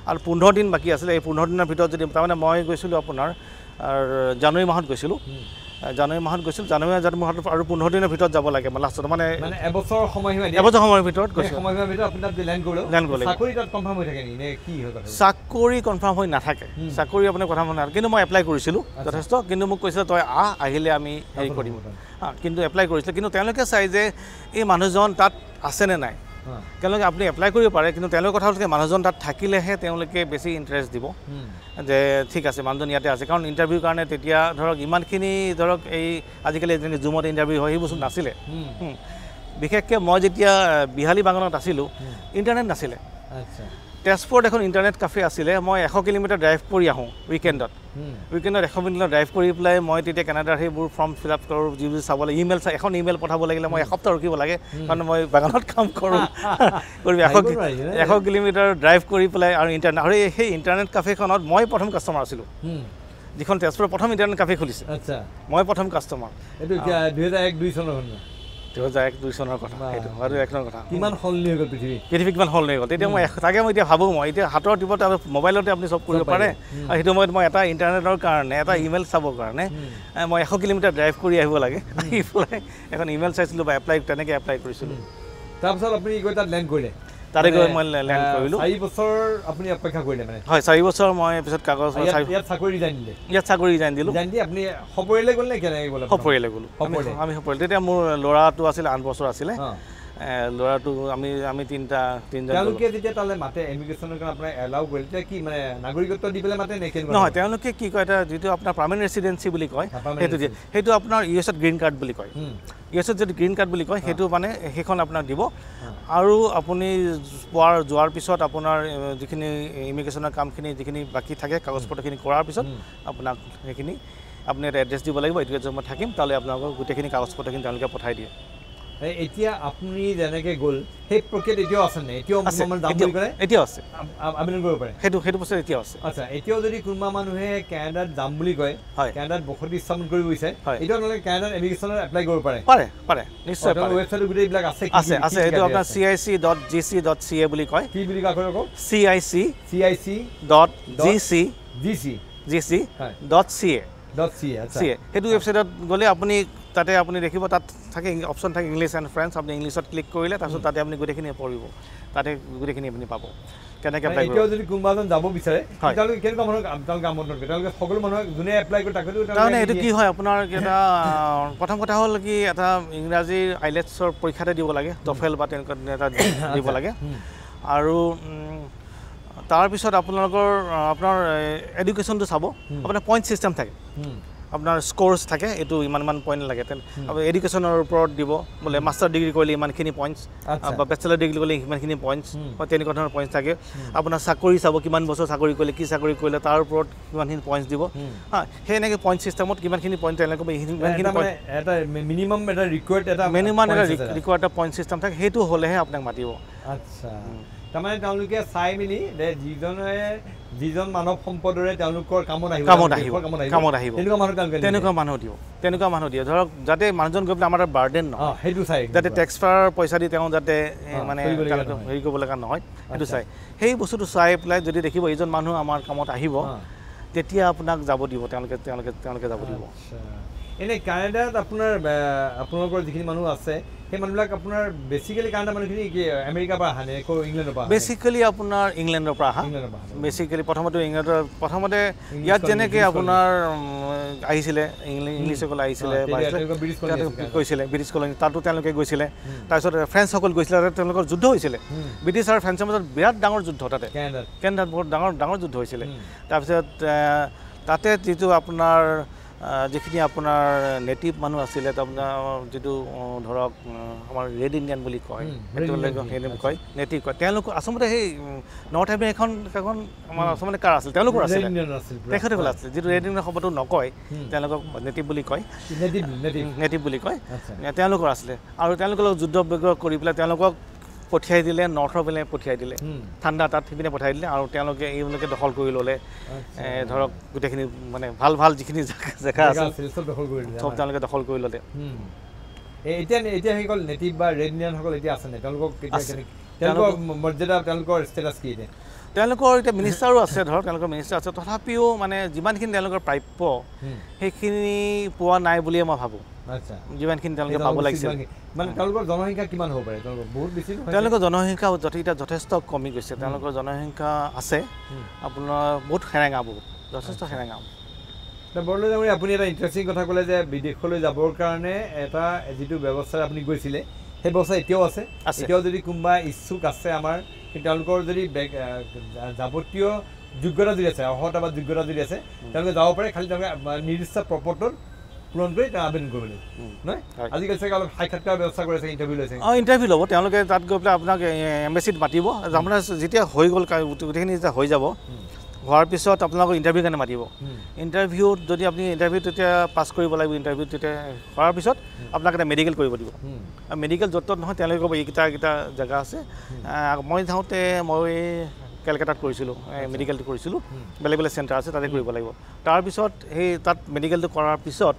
আৰু পোন্ধৰ দিন বাকী আছিলে। এই পোন্ধৰ দিনৰ ভিতৰত যদি তাৰমানে মই গৈছিলোঁ আপোনাৰ জানুৱাৰী মাহত গৈছিলোঁ, জানুৱাৰী মাহত গৈছিলোঁ, জানুৱাৰী মাহত মোৰ হাতত আৰু পোন্ধৰ দিনৰ ভিতৰত যাব লাগে লাষ্টত, মানে এবছৰ সময়সীমা এবছৰ সময়ৰ ভিতৰত গৈছোঁ। সময়সীমাৰ ভিতৰত আপুনি তাত লেণ্ড কৰিলে, লেণ্ড কৰিলে চাকৰি তাত কনফাৰ্ম হৈ থাকে নেকি নে কি হয়? চাকৰি কনফাৰ্ম হৈ নাথাকে, চাকৰি আপোনাৰ কথা মনে নাথাকে। কিন্তু মই এপ্লাই কৰিছিলোঁ যথেষ্ট, কিন্তু মোক কৈছিলে তই আহ, আহিলে আমি হেৰি কৰিম। কিন্তু এপ্লাই কৰিছিলোঁ, কিন্তু তেওঁলোকে চাই যে এই মানুহজন তাত আছেনে নাই। তেওঁলোকে আপুনি এপ্লাই কৰিব পাৰে, কিন্তু তেওঁলোকৰ কথা হ'ল মানুহজন তাত থাকিলেহে তেওঁলোকে বেছি ইণ্টাৰেষ্ট দিব যে ঠিক আছে মানুহজন ইয়াতে আছে। কাৰণ ইণ্টাৰভিউৰ কাৰণে তেতিয়া ধৰক ইমানখিনি ধৰক এই আজিকালি যেনেকৈ জুমত ইণ্টাৰভিউ হয় সেই বস্তু নাছিলে। বিশেষকৈ মই যেতিয়া বিহালী বাগানত আছিলোঁ ইণ্টাৰনেট নাছিলে। তেজপুৰত এখন ইণ্টাৰনেট কাফে আছিলে, মই এশ কিলোমিটাৰ ড্ৰাইভ কৰি আহোঁ উইকেণ্ডত। উইকেণ্ডত এশ কিলোমিটাৰ ড্ৰাইভ কৰি পেলাই মই তেতিয়া কানাডাৰ সেইবোৰ ফৰ্ম ফিল আপ কৰোঁ, যিবোৰ চাব লাগে, ইমেইল চাই এখন ইমেইল পঠাব লাগিলে মই এসপ্তাহ ৰখিব লাগে, কাৰণ মই বাগানত কাম কৰোঁ। কৰি এশ এশ কিলোমিটাৰ ড্ৰাইভ কৰি পেলাই আৰু ইণ্টাৰনেট, আৰু সেই ইণ্টাৰনেট কাফেখনত মই প্ৰথম কাষ্টমাৰ আছিলোঁ, যিখন তেজপুৰৰ প্ৰথম ইণ্টাৰনেট কাফে খুলিছে, মই প্ৰথম কাষ্টমাৰ। এইটো দুহেজাৰ এক দুই চনৰ ঘটনা, দুহেজাৰ এক দুই চনৰ কথা, সেইটো দুহেজাৰ এক চনৰ কথা। কিমান সলনি হৈ গ'ল পৃথিৱী, পৃথিৱী কিমান সলনি হৈ গ'ল। তেতিয়া মই তাকে মই এতিয়া ভাবোঁ, মই এতিয়া হাতৰ টিপত মোবাইলতে আপুনি চব কৰিব পাৰে। আৰু সেইটো সময়ত মই এটা ইণ্টাৰনেটৰ কাৰণে, এটা ইমেইল চাবৰ কাৰণে মই এশ কিলোমিটাৰ ড্ৰাইভ কৰি আহিব লাগে, আহি পেলাই এখন ইমেইল চাইছিলোঁ বা এপ্লাই তেনেকৈ এপ্লাই কৰিছিলোঁ। তাৰপিছত আপুনি গৈ তাত লেণ্ড কৰিলে? তাতে গৈ মই লেণ্ড কৰিলোঁ। চাৰি বছৰ আপুনি অপেক্ষা কৰিলে মানে? হয়, চাৰি বছৰ মই পিছত কাগজ ইয়াত চাকৰি ৰিজাইন দিলে? ইয়াত চাকৰি ৰিজাইন দিলোঁ। ৰিজাইন দি আপুনি সপৰিয়ালে গ'ল নে কেনেকৈ গ'ল? সপৰিয়ালে গ'লোঁ, আমি সপৰিয়ালে। তেতিয়া মোৰ ল'ৰাটো আছিলে আঠ বছৰ আছিলে, ল'ৰাটো আমি আমি তিনিটা তিনিজন। তেওঁলোকে যেতিয়া তালৈ মাতে ইমিগ্ৰেশ্যনৰ কাৰণে আপোনাৰ এলাউ কৰিলে, তেতিয়া কি মানে নাগৰিকত্ব দি পেলাই মাতে নে কেনেকুৱা? নহয়, তেওঁলোকে কি কয়, এটা যিটো আপোনাৰ পাৰ্মানেণ্ট ৰেচিডেঞ্চি বুলি কয়, সেইটো দিয়ে। সেইটো আপোনাৰ ইউ এছত গ্ৰীণ কাৰ্ড বুলি কয়। ইউ এছত যিটো গ্ৰীণ কাৰ্ড বুলি কয় সেইটো মানে সেইখন আপোনাক দিব। আৰু আপুনি পোৱাৰ যোৱাৰ পিছত আপোনাৰ যিখিনি ইমিগ্ৰেশ্যনৰ কামখিনি যিখিনি বাকী থাকে কাগজ পত্ৰখিনি কৰাৰ পিছত আপোনাক সেইখিনি আপুনি এটা এড্ৰেছ দিব লাগিব, এইটো এড্ৰেছত মই থাকিম, তালৈ আপোনালোকৰ গোটেইখিনি কাগজ পত্ৰখিনি তেওঁলোকে পঠাই দিয়ে। এতিয়া আপুনি যেনেকৈ গ'ল সেই প্ৰক্ৰিয়াত এতিয়াও আছে নে? এতিয়াও এতিয়াও আছে, আবেদন কৰিব পাৰে? সেইটো সেইটো প্ৰচেছ এতিয়াও আছে। আচ্ছা, এতিয়াও যদি কোনোবা মানুহে কানাডাত যাম বুলি কয়, কানাডাত বসতি স্থাপন কৰিব বিচাৰে, এতিয়াও তেওঁলোকে কানাডাত ইমিগ্ৰেশ্যনত এপ্লাই কৰিব পাৰে? পাৰে পাৰে, নিশ্চয় পাৰে। ৱেবছাইটত গোটেইবিলাক আছে? আছে আছে। এইটো আপোনাৰ C I C dot G C dot C A বুলি কয়। কি বুলি কয় আকৌ? C I C C I C dot G C G C G C dot C A dot C A C A. সেইটো ৱেবছাইটত গ'লে আপুনি তাতে আপুনি দেখিব তাত থাকে অপশ্যন থাকে ইংলিছ এণ্ড ফ্ৰেঞ্চ, আপুনি ইংলিছত ক্লিক কৰিলে তাৰপিছত তাতে আপুনি গোটেইখিনি পঢ়িব, তাতে গোটেইখিনি আপুনি পাব কেনেকৈ এপ্লাই কৰিব। যদি কোনোবা এজন যাব বিচাৰে তেওঁলোকে কেনেকুৱা মানুহক তেওঁলোকে আমন্ত্ৰণ কৰে? তেওঁলোকে সকলো মানুহক যোনে এপ্লাই কৰে তাকে? তাৰমানে এইটো কি হয় আপোনাৰ এটা প্ৰথম কথা হ'ল কি এটা ইংৰাজীৰ আইলেটছৰ পৰীক্ষাতে দিব লাগে, টফেল বা তেনেকুৱা এটা দিব লাগে। আৰু তাৰপিছত আপোনালোকৰ আপোনাৰ এডুকেশ্যনটো চাব, আপোনাৰ পইণ্ট ছিষ্টেম থাকে, আপোনাৰ স্ক'ৰ্ছ থাকে, এইটো ইমান ইমান পইণ্ট লাগে। তেনে এডুকেশ্যনৰ ওপৰত দিব, বোলে মাষ্টাৰ ডিগ্ৰী কৰিলে ইমানখিনি পইণ্টছ বা বেচেলাৰ ডিগ্ৰী কৰিলে ইমানখিনি পইণ্টছ বা তেনেকুৱা ধৰণৰ পইণ্টছ থাকে। আপোনাৰ চাকৰি চাব, কিমান বছৰ চাকৰি কৰিলে, কি চাকৰি কৰিলে, তাৰ ওপৰত কিমানখিনি পইণ্টছ দিব। হা, সেই এনেকৈ পইণ্ট ছিষ্টেমত কিমানখিনি পইণ্ট তেওঁলোকে ইমানখিনি এটা মিনিমাম এটা ৰিকুৱাৰ্ড এটা মিনিমাম এটা ৰিকুৱাৰ্ড এটা পইণ্ট ছিষ্টেম থাকে, সেইটো হ'লেহে আপোনাক মাতিব। আচ্ছা, তাৰমানে তেওঁলোকে চাই মেলি যে যিজনে যিজন মানৱ সম্পদৰে তেওঁলোকৰ কামত আহিব, কামত আহিব, কামত আহিব, তেনেকুৱা মানুহ তেওঁলোকে তেনেকুৱা মানুহ দিব, তেনেকুৱা মানুহ দিয়ে। ধৰক যাতে মানুহজন গৈ পেলাই আমাৰ বাৰ্ডেন নহয়, সেইটো চাই, যাতে টেক্সপাৰ পইচা দি তেওঁ যাতে মানে হেৰি কৰিব লগা নহয়, সেইটো চাই। সেই বস্তুটো চাই পেলাই যদি দেখিব এইজন মানুহ আমাৰ কামত আহিব, তেতিয়া আপোনাক যাব দিব তেওঁলোকে, তেওঁলোকে তেওঁলোকে যাব দিব। এনেই কানাডাত আপোনাৰ আপোনালোকৰ যিখিনি মানুহ আছে সেই মানুহবিলাক আপোনাৰ বেচিকেলি কানাডা মানুহখিনি কি আমেৰিকাৰ পৰা আহা নে ইংলেণ্ডৰ পৰা? বেচিকেলি আপোনাৰ ইংলেণ্ডৰ পৰা আহা। বেচিকেলি প্ৰথমতে ইংলেণ্ডৰ, প্ৰথমতে ইয়াত যেনেকৈ আপোনাৰ আহিছিলে ইংলিছসকল আহিছিলে, গৈছিলে ব্ৰিটিছ কলনী, তাতো তেওঁলোকে গৈছিলে। তাৰপিছত ফ্ৰেঞ্চসকল গৈছিলে, তাতে তেওঁলোকৰ যুদ্ধ হৈছিলে, ব্ৰিটিছ আৰু ফ্ৰেঞ্চৰ মাজত বিৰাট ডাঙৰ যুদ্ধ তাতে কেনেডাত বহুত ডাঙৰ ডাঙৰ যুদ্ধ হৈছিলে। তাৰপিছত তাতে যিটো আপোনাৰ যিখিনি আপোনাৰ নেটিভ মানুহ আছিলে, আপোনাৰ যিটো ধৰক আমাৰ ৰেড ইণ্ডিয়ান বুলি কয়, কয় নেটিভ কয়, তেওঁলোক আচলতে সেই নৰ্থ আমেৰিকাখন এখন আমাৰ আচলতে কাৰ আছিল, তেওঁলোকৰ আছিলে, তেখেতসকল আছিলে। যিটো ৰেড ইণ্ডিয়ান শব্দটো নকয়, তেওঁলোকক নেটিভ বুলি কয়, নেটিভ বুলি কয়, তেওঁলোকৰ আছিলে। আৰু তেওঁলোকৰ লগত যুদ্ধ বিগ্ৰহ কৰি পেলাই তেওঁলোকক পঠিয়াই দিলে, নৰ্থৰ পিনে পঠিয়াই দিলে, ঠাণ্ডা তাত সেইপিনে পঠিয়াই দিলে। আৰু তেওঁলোকে এইবিলাকে দখল কৰি ল'লে, ধৰক গোটেইখিনি মানে ভাল ভাল যিখিনি জেগা আছিল চব তেওঁলোকে দখল কৰি ল'লে। এতিয়া এতিয়া সেইসকল নেটিভ বা ৰেড ইণ্ডিয়ানসকল এতিয়া আছে নে? তেওঁলোকক তেওঁলোকৰ মৰ্যাদা, তেওঁলোকৰ ষ্টেটাছ কি এতিয়া? তেওঁলোকৰ এতিয়া মিনিষ্টাৰো আছে, ধৰক তেওঁলোকৰ মিনিষ্টাৰ আছে, তথাপিও মানে যিমানখিনি তেওঁলোকৰ প্ৰাপ্য সেইখিনি পোৱা নাই বুলিয়ে মই ভাবোঁ। যিমানখিনি তেওঁলোকে পাব লাগিছিল, মানে তেওঁলোকৰ জনসংখ্যা কিমান হ'ব পাৰে? তেওঁলোকৰ বহুত বেছি, তেওঁলোকৰ জনসংখ্যা এতিয়া যথেষ্ট কমি গৈছে। তেওঁলোকৰ জনসংখ্যা আছে আপোনাৰ বহুত সেৰেঙা, বহুত যথেষ্ট সেৰেঙা। বৰদলৈ ডাঙৰীয়া, আপুনি এটা ইণ্টাৰেষ্টিং কথা ক'লে যে বিদেশলৈ যাবৰ কাৰণে এটা যিটো ব্যৱস্থাৰে আপুনি গৈছিলে সেই ব্যৱস্থা এতিয়াও আছে। এতিয়াও যদি কোনোবা ইচ্ছুক আছে আমাৰ, কিন্তু তেওঁলোকৰ যদি যাৱতীয় যোগ্যতা যদি আছে, অৰ্হতা বা যোগ্যতা যদি আছে, তেওঁলোকে যাব পাৰে, খালি তেওঁলোকে নিৰ্দিষ্ট প্ৰপত্ৰত পূৰণ কৰি তেওঁ আবেদন কৰিব লাগিব নহয়? আজিকালি চাগে অলপ সাক্ষাৎকাৰ ব্যৱস্থা কৰিছে, ইণ্টাৰভিউ লৈছে। অঁ, ইণ্টাৰভিউ ল'ব তেওঁলোকে, তাত গৈ পেলাই আপোনাক এম্বেচিত মাতিব। আপোনাৰ যেতিয়া হৈ গ'ল গোটেইখিনি যেতিয়া হৈ যাব, হোৱাৰ পিছত আপোনালোকক ইণ্টাৰভিউ কাৰণে মাতিব। ইণ্টাৰভিউত যদি আপুনি ইণ্টাৰভিউত তেতিয়া পাছ কৰিব লাগিব, ইণ্টাৰভিউত তেতিয়া কৰাৰ পিছত আপোনাক এটা মেডিকেল কৰিব দিব। আৰু মেডিকেল য'ত ত'ত নহয়, তেওঁলোকে ক'ব এইকেইটা এইকেইটা জেগা আছে। মই যাওঁতে মই কেলকাতাত কৰিছিলোঁ, মেডিকেলটো কৰিছিলোঁ, বেলেগ বেলেগ চেণ্টাৰ আছে তাতে কৰিব লাগিব। তাৰপিছত সেই তাত মেডিকেলটো কৰাৰ পিছত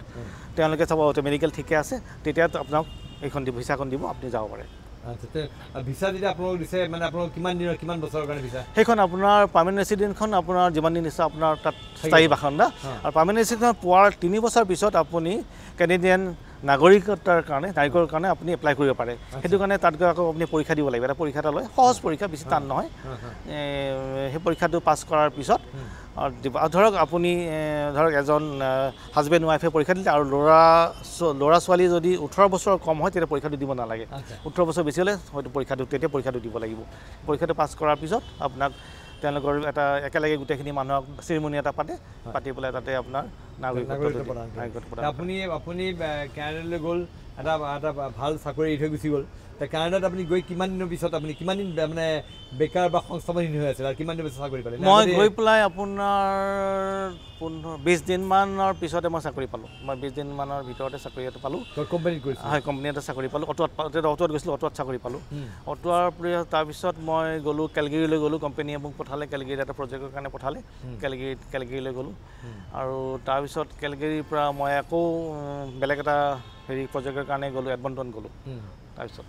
তেওঁলোকে চাব মেডিকেল ঠিকে আছে, তেতিয়া আপোনাক এইখন দিব, ভিছাখন দিব, আপুনি যাব পাৰে। ভিছা যেতিয়া আপোনালোক দিছে, মানে আপোনালোক কিমান দিনৰ, কিমান বছৰৰ কাৰণে ভিছা? সেইখন আপোনাৰ পাৰ্মানেণ্ট ৰেচিডেণ্টখন আপোনাৰ যিমান দিন দিছে আপোনাৰ তাত স্থায়ী বাসিন্দা। আৰু পাৰ্মানেণ্ট ৰেচিডেণ্টখন পোৱাৰ তিনি বছৰ পিছত আপুনি কেনেডিয়ান নাগৰিকত্বৰ কাৰণে, নাগৰিকৰ কাৰণে আপুনি এপ্লাই কৰিব পাৰে। সেইটো কাৰণে তাত গৈ আকৌ আপুনি পৰীক্ষা দিব লাগিব, এটা পৰীক্ষা এটা লয়, সহজ পৰীক্ষা, বেছি টান নহয়। সেই পৰীক্ষাটো পাছ কৰাৰ পিছত দিব। আৰু ধৰক আপুনি ধৰক এজন হাজবেণ্ড ৱাইফে পৰীক্ষা দিলে, আৰু ল'ৰা ল'ৰা ছোৱালী যদি ওঠৰ বছৰ কম হয় তেতিয়া পৰীক্ষাটো দিব নালাগে, ওঠৰ বছৰ বেছি হ'লে হয়তো পৰীক্ষাটো তেতিয়া পৰীক্ষাটো দিব লাগিব। পৰীক্ষাটো পাছ কৰাৰ পিছত আপোনাক তেওঁলোকৰ এটা একেলগে গোটেইখিনি মানুহক চেৰিমনি এটা পাতে, পাতি পেলাই তাতে আপোনাৰ নাগৰিকত্ব প্ৰদান। আপুনি আপুনি কানাডালৈ গ'ল, এটা এটা ভাল চাকৰি এৰি থৈ গুচি গ'ল। কানাডাত আপুনি গৈ কিমান দিনৰ পিছত আপুনি কিমান দিন মানে বেকাৰ বা সংস্থাপনহীন হৈ আছিল আৰু কিমান দিনৰ পিছত চাকৰি পালে? মই গৈ পেলাই আপোনাৰ পোন্ধৰ বিছ দিনমানৰ পিছতে মই চাকৰি পালোঁ। মই বিছ দিনমানৰ ভিতৰতে চাকৰি এটা পালোঁ। কোম্পানীত গৈছিলোঁ? হয়, কোম্পানী এটা চাকৰি পালোঁ। অটোৱাত অটোৱাত গৈছিলোঁ, অটোৱাত চাকৰি পালোঁ। অটোৱাৰ তাৰপিছত মই গ'লোঁ কেলগেৰীলৈ গ'লোঁ, কোম্পানীয়ে মোক পঠালে কেলগেৰীত এটা প্ৰজেক্টৰ কাৰণে পঠালে, কেলগেৰীত কেলগেৰীলৈ গ'লোঁ। আৰু তাৰপিছত কেলগেৰীৰ পৰা মই আকৌ বেলেগ এটা হেৰি প্ৰজেক্টৰ কাৰণে গ'লোঁ, এডমণ্টন গ'লোঁ। তাৰপিছত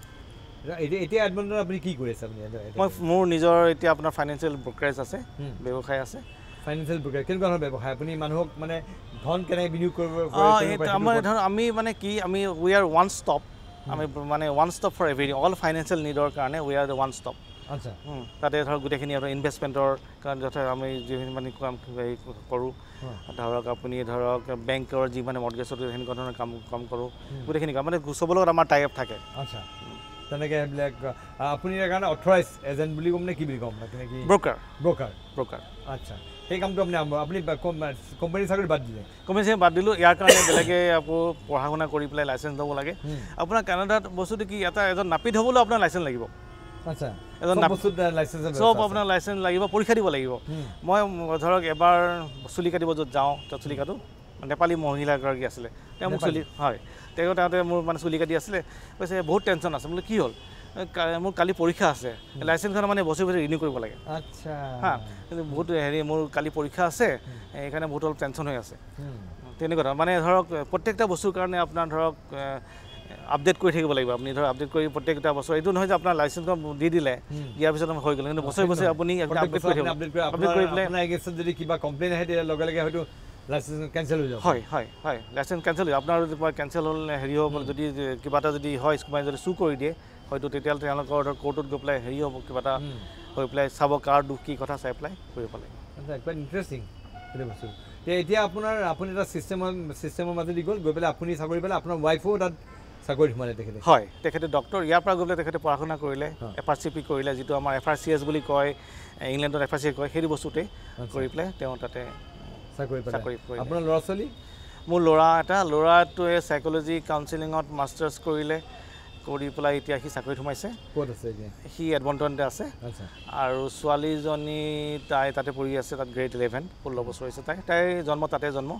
এতিয়া এডমণ্টনত আপুনি কি কৰি আছে? আপুনি মই মোৰ নিজৰ এতিয়া আপোনাৰ ফাইনেন্সিয়েল ব্ৰ'কাৰেজ আছে, ব্যৱসায় আছে। ফাইনেন্সিয়েল ব্ৰোকাৰ কেনেকুৱা ধৰণৰ ব্যৱসায়? আপুনি মানুহক মানে ধন কেনেকৈ বিনিয়োগ কৰিব? আমাৰ ধৰক আমি মানে কি, আমি we are one stop, আমি মানে one stop for every all financial নিডৰ কাৰণে we are one stop. আচ্ছা, তাতে ধৰক গোটেইখিনি আপোনাৰ ইনভেষ্টমেণ্টৰ কাৰণে যথা আমি যিখিনি মানে কাম হেৰি কৰোঁ, ধৰক আপুনি ধৰক বেংকৰ যি মানে মৰ্টগেজত সেনেকুৱা ধৰণৰ কাম কাম কৰোঁ, গোটেইখিনি কাম মানে চবৰ লগত আমাৰ টাই আপ থাকে। আচ্ছা, তেনেকৈ সেইবিলাক আপুনি ইয়াৰ কাৰণে অথৰাইজ এজেণ্ট বুলি ক'ম নে কি বুলি ক'ম? কি ব্ৰ'কাৰ? Broker, broker. আচ্ছা, সেই কামটো আপুনি আৰম্ভ, আপুনি কোম্পানী চাকৰি বাদ দিলে? কোম্পানী চাকৰি বাদ দিলোঁ। ইয়াৰ কাৰণে বেলেগে আকৌ পঢ়া শুনা কৰি পেলাই লাইচেঞ্চ ল'ব লাগে। আপোনাৰ কানাডাত বস্তুটো কি, এটা এজন নাপিত হ'বলৈও আপোনাৰ লাইচেঞ্চ লাগিব। আচ্ছা, এজন চব আপোনাৰ লাইচেঞ্চ লাগিব, পৰীক্ষা দিব লাগিব। মই ধৰক এবাৰ চুলি কাটিব য'ত যাওঁ, তাত চুলি কাটো, নেপালী মহিলা এগৰাকী আছিলে, তেওঁ মোক চুলি, হয়, তেওঁ তাতে মোৰ মানে চুলি কাটি আছিলে, কৈছে বহুত টেনশ্যন আছে। বোলে কি হ'ল? মোৰ কালি পৰীক্ষা আছে, লাইচেঞ্চখন মানে বছৰি বছৰি ৰিনিউ কৰিব লাগে। আচ্ছা, হা, কিন্তু বহুত হেৰি মোৰ কালি পৰীক্ষা আছে, সেইকাৰণে বহুত অলপ টেনশ্যন হৈ আছে। তেনেকুৱা ধৰণৰ মানে ধৰক প্ৰত্যেকটা বস্তুৰ কাৰণে আপোনাৰ ধৰক আপডেট কৰি থাকিব লাগিব। আপুনি ধৰক আপডেট কৰি প্ৰত্যেকটা বছৰ, এইটো নহয় যে আপোনাৰ লাইচেঞ্চখন দি দিলে দিয়াৰ পিছত হৈ গ'ল, কিন্তু বছৰি বছৰি আপুনি আপডেট কৰি থাকিব। আপডেট কৰি পেলাই আপোনাৰ এগেইনষ্টত যদি কিবা কমপ্লেইন আহে তেতিয়া লগে লগে হয়তো লাইচেঞ্চ কেঞ্চেল হৈ যাব। হয় হয় হয়, লাইচেঞ্চ কেঞ্চেল হৈ আপোনাৰ কেঞ্চেল হ'ল, হেৰি হ'ব, যদি কিবা এটা যদি হয় কোনোবাই যদি চু কৰি দিয়ে, হয়তো তেতিয়াহ'লে তেওঁলোকৰ ধৰক কোৰ্টত গৈ পেলাই হেৰি হ'ব, কিবা এটা হৈ পেলাই চাব কাৰ দুখ কি কথা চাই পেলাই কৰিব লাগিব। আচ্ছা, কোৱাইট ইণ্টাৰেষ্টিং সেইটো বস্তু। এতিয়া আপোনাৰ আপুনি এটা ছিষ্টেমৰ ছিষ্টেমৰ মাজেদি গ'ল, গৈ পেলাই আপুনি চাকৰি পালে, আপোনাৰ ৱাইফো তাত চাকৰিত সোমালে তেখেতে? হয়, তেখেতে ডক্টৰ। ইয়াৰ পৰা গৈ পেলাই তেখেতে পঢ়া শুনা কৰিলে, এফ আৰ চি পি কৰিলে, যিটো আমাৰ এফ আৰ চি এছ বুলি কয়, ইংলেণ্ডত এফ আৰ চি কয়, সেইটো বস্তুতেই কৰি পেলাই তেওঁ তাতে চাকৰি পালে। চাকৰি কৰিলে। আপোনাৰ ল'ৰা ছোৱালী? মোৰ ল'ৰা এটা, ল'ৰাটোৱে চাইক'লজি কাউন্সেলিঙত মাষ্টাৰ্ছ কৰিলে, কৰি পেলাই এতিয়া সি চাকৰিত সোমাইছে। ক'ত আছে এতিয়া? সি এডমণ্টনতে আছে। আচ্ছা। আৰু ছোৱালীজনী তাই তাতে পঢ়ি আছে, তাত গ্ৰেড ইলেভেন, ষোল্ল বছৰ হৈছে তাই, তাইৰ জন্ম তাতে জন্ম।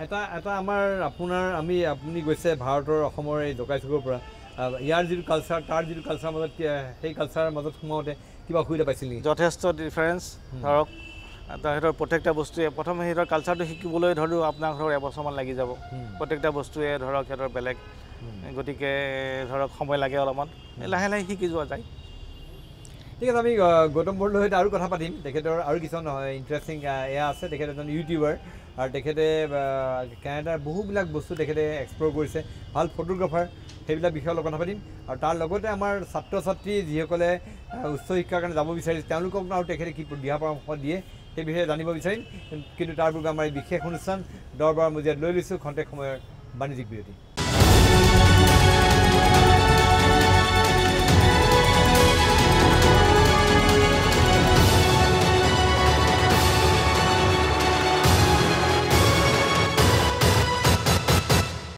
এটা এটা আমাৰ আপোনাৰ আমি আপুনি গৈছে ভাৰতৰ অসমৰ এই জকাইচুকৰ পৰা, ইয়াৰ যিটো কালচাৰ তাৰ যিটো কালচাৰৰ মাজত, সেই কালচাৰৰ মাজত সোমাওঁতে কিবা অসুবিধা পাইছিল নেকি? যথেষ্ট ডিফাৰেঞ্চ। ধৰক সিহঁতৰ প্ৰত্যেকটা বস্তুৱে প্ৰথম সিহঁতৰ কালচাৰটো শিকিবলৈ ধৰক আপোনাক ধৰক এবছৰমান লাগি যাব। প্ৰত্যেকটা বস্তুৱে ধৰক সিহঁতৰ বেলেগ, গতিকে ধৰক সময় লাগে অলপমান, লাহে লাহে শিকি যোৱা যায়। ঠিক আছে, আমি গৌতম বৰদলৈৰ সৈতে আৰু কথা পাতিম। তেখেতৰ আৰু কিছুমান ইণ্টাৰেষ্টিং এয়া আছে। তেখেত এজন ইউটিউবাৰ আৰু তেখেতে কেনাডাৰ বহুবিলাক বস্তু তেখেতে এক্সপ্ল'ৰ কৰিছে, ভাল ফটোগ্ৰাফাৰ, সেইবিলাক বিষয়ে অলপ কথা পাতিম। আৰু তাৰ লগতে আমাৰ ছাত্ৰ ছাত্ৰী যিসকলে উচ্চ শিক্ষাৰ কাৰণে যাব বিচাৰিছে তেওঁলোকক আৰু তেখেতে কি দিহা পৰামৰ্শ দিয়ে সেই বিষয়ে জানিব বিচাৰিম। কিন্তু তাৰ পূৰ্বে আমাৰ এই বিশেষ অনুষ্ঠান দৰবাৰ মজিয়াত লৈ লৈছোঁ খন্তেক সময়ৰ বাণিজ্যিক বিৰতি।